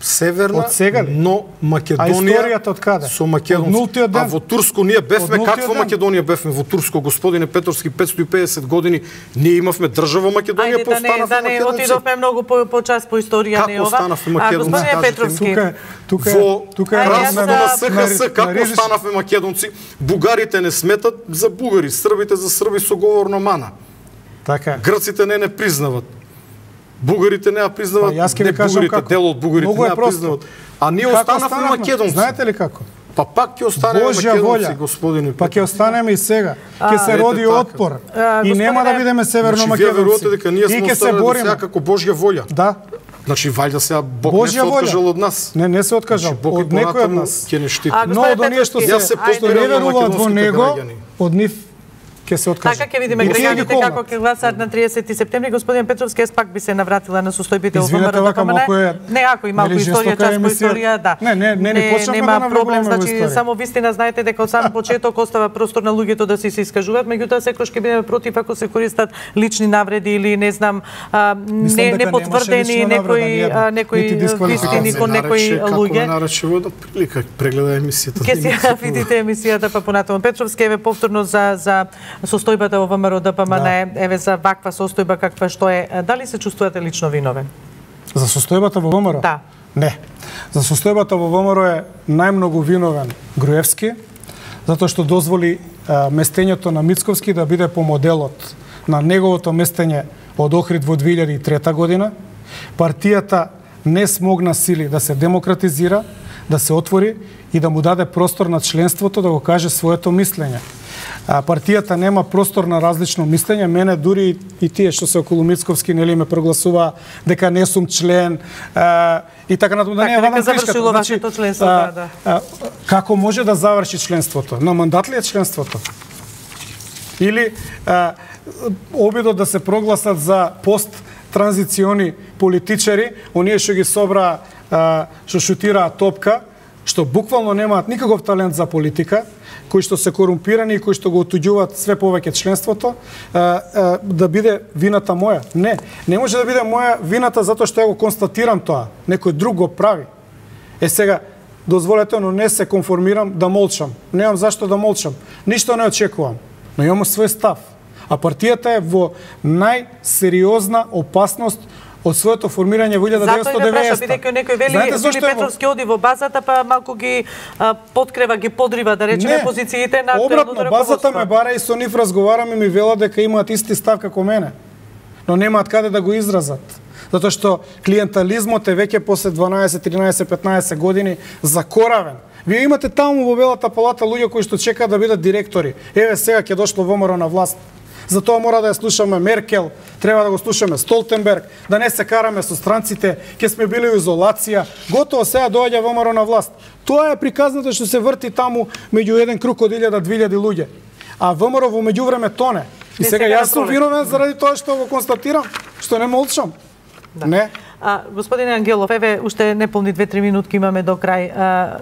Северна, од сега ли? но Македонија. А историјата од каде? Со македонци. А во Турско ние бевме, каква ден? Македонија бевме во Турско, господине Петровски, петстотини и педесет години, ние имавме држава Македонија, па останавме македонци. Да не отидовме многу по, по час по историја, не ова. Како останавме македонци? А, господине Петровски. Тука, тука, во тука е раздор на на- С Х С, како останавме македонци? Бугарите не сметат за бугари, србите за срби со говорна мана. Така. Грците не не признават. Бугарите не ја признават, Па, јас ќе не ви кажам бугарите, како. дел од бугарите Многу не е ја просто. признават. А ние Како останавме останавме? македонци. Знаете ли како? Па пак ќе останеме Божја македонци, волја. господине. Па ќе останеме и сега. Ќе се ете роди така. отпор. А, И нема да господине- бидеме северно Значи, вие верувате македонци. дека ние И сме ќе се останали до бориме. сега како Божја волја. Да. Значи, вајда сега Бог не се Божја волја. откажал од нас. Не, не се откажал. Значи, Бог Од и некој од понатаму нас. ќе не штити. А, Но Господине од оние што се, Петровски, Јас се што поздравам не на веруваат во македонските него, граѓани. од нив ќе се откажат. Така ќе видиме И тие ги граѓаните колнат. како ќе гласаат на триесети септември. Господин Петровски, јас пак би се навратила на состојбите во Извинете, вака малку е- Не, ако и малку нели, историја, жестока час по емисија. историја, да. Не, не, не, не почнавме нема да навлегуваме проблем, во значи историја. само вистина знаете дека од сам почеток остава простор на луѓето да се се искажуваат, меѓутоа секогаш ќе бидеме против ако се користат лични навреди или не знам, а, Мислам не дека не потврдени немаше лична навреда, некои ниједна. а, некои Нити дисквалификација. вистини кон некои Како ме луѓе. нарече во една прилика, прегледа емисијата. Ке си ја видите емисијата па понатаму. Петровски, еве повторно за за состојбата во ВМРО Д П М Н, еве за ваква состојба каква што е. Дали се чувствувате лично виновен? За состојбата во ВМРО? Да. Не. За состојбата во ВМРО е најмногу виновен Груевски, затоа што дозволи а, местењето на Мицковски да биде по моделот на неговото местење од Охрид во две илјади и трета година. Партијата не смогна сили да се демократизира, да се отвори и да му даде простор на членството да го каже своето мислење. А, партијата нема простор на различно мислење. Мене дури и тие што се околу Мицковски нели ме прогласува дека не сум член а, и така натаму, да не Така, ја вадам дека кришката. завршило вашето членство, да, да. а, како може да заврши членството? На мандат ли е членството? Или а, обидот да се прогласат за пост транзициони политичари, оние што ги собра, а, што шутираат топка, што буквално немаат никаков талент за политика, кои што се корумпирани и кои што го отуѓуваат све повеќе членството, а, а, да биде вината моја. Не, не може да биде моја вината затоа што ја го констатирам тоа. Некој друг го прави. Е сега, дозволете, но не се конформирам да молчам. Немам зашто да молчам. Ништо не очекувам, но имам свој став. А партијата е во најсериозна опасност од своето формирање во Затоа деветстотини и и ве праша, деветдесета. бидејќи некој вели Знаете Филип зашто е во- Петровски оди во базата, па малку ги а, подкрева, ги подрива, да речеме, Не, позициите на обратно, актуелното базата раководство. ме бара и со нив разговарам и ми велат дека имаат исти став како мене. Но немаат каде да го изразат. Затоа што клиентализмот е веќе после дванаесет, тринаесет, петнаесет години закоравен. Вие имате таму во Белата палата луѓе кои што чекаат да бидат директори. Еве сега ќе дошло ВМРО на власт. Затоа мора да ја слушаме Меркел, треба да го слушаме Столтенберг, да не се караме со странците, ќе сме били во изолација. Готово сега доаѓа ВМРО на власт. Тоа е приказната што се врти таму меѓу еден круг од илјада до две илјади луѓе. А ВМРО во меѓувреме тоне. И Не, сега сега јас на сум пролет. виновен заради тоа што го констатирам, што не молчам. Да. Не. А, господине Ангелов, еве уште неполни две-три минутки имаме до крај. А,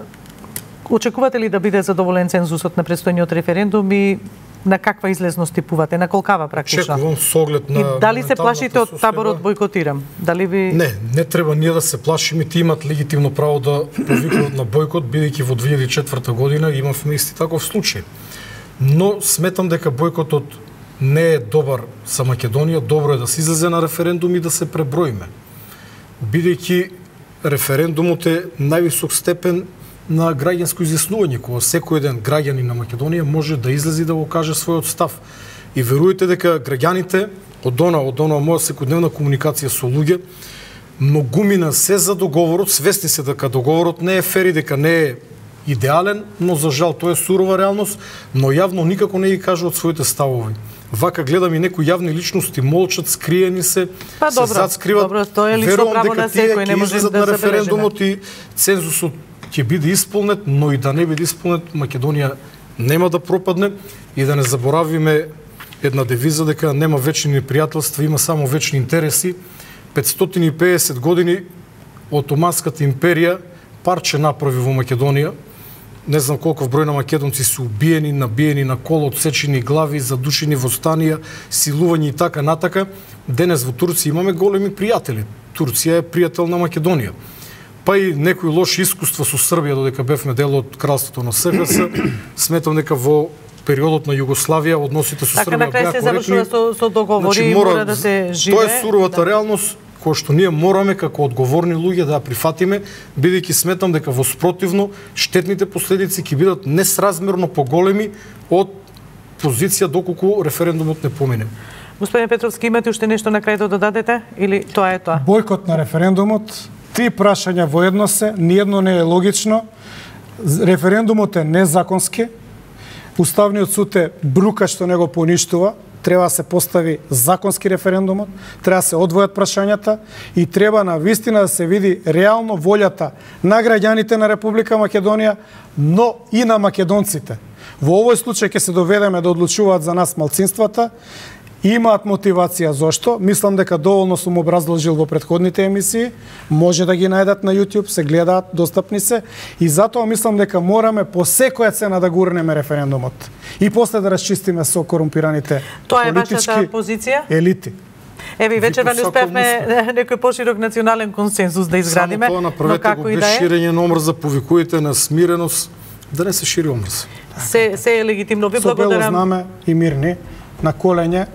очекувате ли да биде задоволен цензусот на предстојниот референдум и на каква излезност типувате, на колкава практично? Чекувам со оглед на И дали се плашите од состојба. таборот бойкотирам? Дали ви Не, не треба ние да се плашиме, ти имат легитимно право да повикуваат на бойкот, бидејќи во две илјади и четврта година имавме исти таков случај. Но сметам дека бойкотот не е добар за Македонија, добро е да се излезе на референдум и да се преброиме. Бидејќи референдумот е највисок степен на граѓанско изјаснување, кога секој еден граѓанин на Македонија може да излезе и да го каже својот став. И верујте дека граѓаните од она, од она моја секојдневна комуникација со луѓе, многумина се за договорот, свесни се дека договорот не е фер и дека не е идеален, но за жал тоа е сурова реалност, но јавно никако не ги кажуваат своите ставови. Вака гледам и некои јавни личности молчат, скриени се, Па, се добро, зацкриват. добро, тоа е лично право на секој, не може да на се референдумот и цензусот ќе биде исполнет, но и да не биде исполнет, Македонија нема да пропадне и да не заборавиме една девиза дека нема вечни непријателства, има само вечни интереси. петстотини и педесет години Отоманската империја парче направи во Македонија. Не знам колку број на македонци се убиени, набиени на кол, отсечени глави, задушени во станија, силување и така натака. Денес во Турција имаме големи пријатели. Турција е пријател на Македонија. Па и некои лоши искуства со Србија додека бевме дел од кралството на СХС. Сметам дека во периодот на Југославија односите со Така Србија на крај беа се коректни. завршува со, со договори, Значи, мора да се живее. Тоа е суровата да. реалност која што ние мораме како одговорни луѓе да ја прифатиме, бидејќи сметам дека во спротивно штетните последици ќе бидат несразмерно поголеми од позиција доколку референдумот не помине. Господин Петровски, имате уште нешто на крај да додадете или тоа е тоа? Бойкот на референдумот, три прашања воедно се, ниедно не е логично. Референдумот е незаконски. Уставниот суд е брука што не го поништува. Треба да се постави законски референдумот, треба да се одвојат прашањата и треба на вистина да се види реално волјата на граѓаните на Република Македонија, но и на македонците. Во овој случај ќе се доведеме да одлучуваат за нас малцинствата. Имаат мотивација зошто. Мислам дека доволно сум образложил во претходните емисии. Може да ги најдат на YouTube, се гледаат, достапни се. И затоа мислам дека мораме по секоја цена да гурнеме референдумот. И после да расчистиме со корумпираните Тоа е политички вашата позиција? елити. Еве, вечерва не Виков успевме некој поширок национален консенсус да изградиме, Само тоа но направете го како и без да е, ширење на омрза, повикујте на смиреност, да не се шири омрза. се, се е легитимно. Ви Со бело благодарам. знаме и мирни на колене.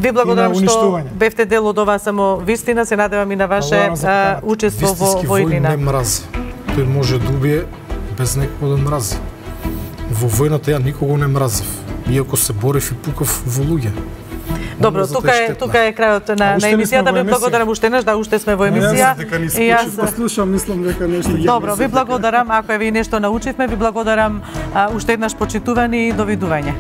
Ви благодарам и на што уништување. бевте дел од оваа само вистина. Се надевам и на ваше Благодарам за а, поканата. учество во, Вистински во војн Илина. не мрази. Тој може да убие без некој да мрази. Во војната ја никого не мразев, иако се борев и пукав во луѓе. Добро, Омразата тука е штетна. тука е крајот на, А на уште не сме емисијата. во Ви емисија. благодарам уште еднаш, да уште сме во емисија. И јас послушам, мислам дека нешто ќе Добро, ви благодарам. Ако е ви нешто научивме, ви благодарам а, уште еднаш почитувани и довидување.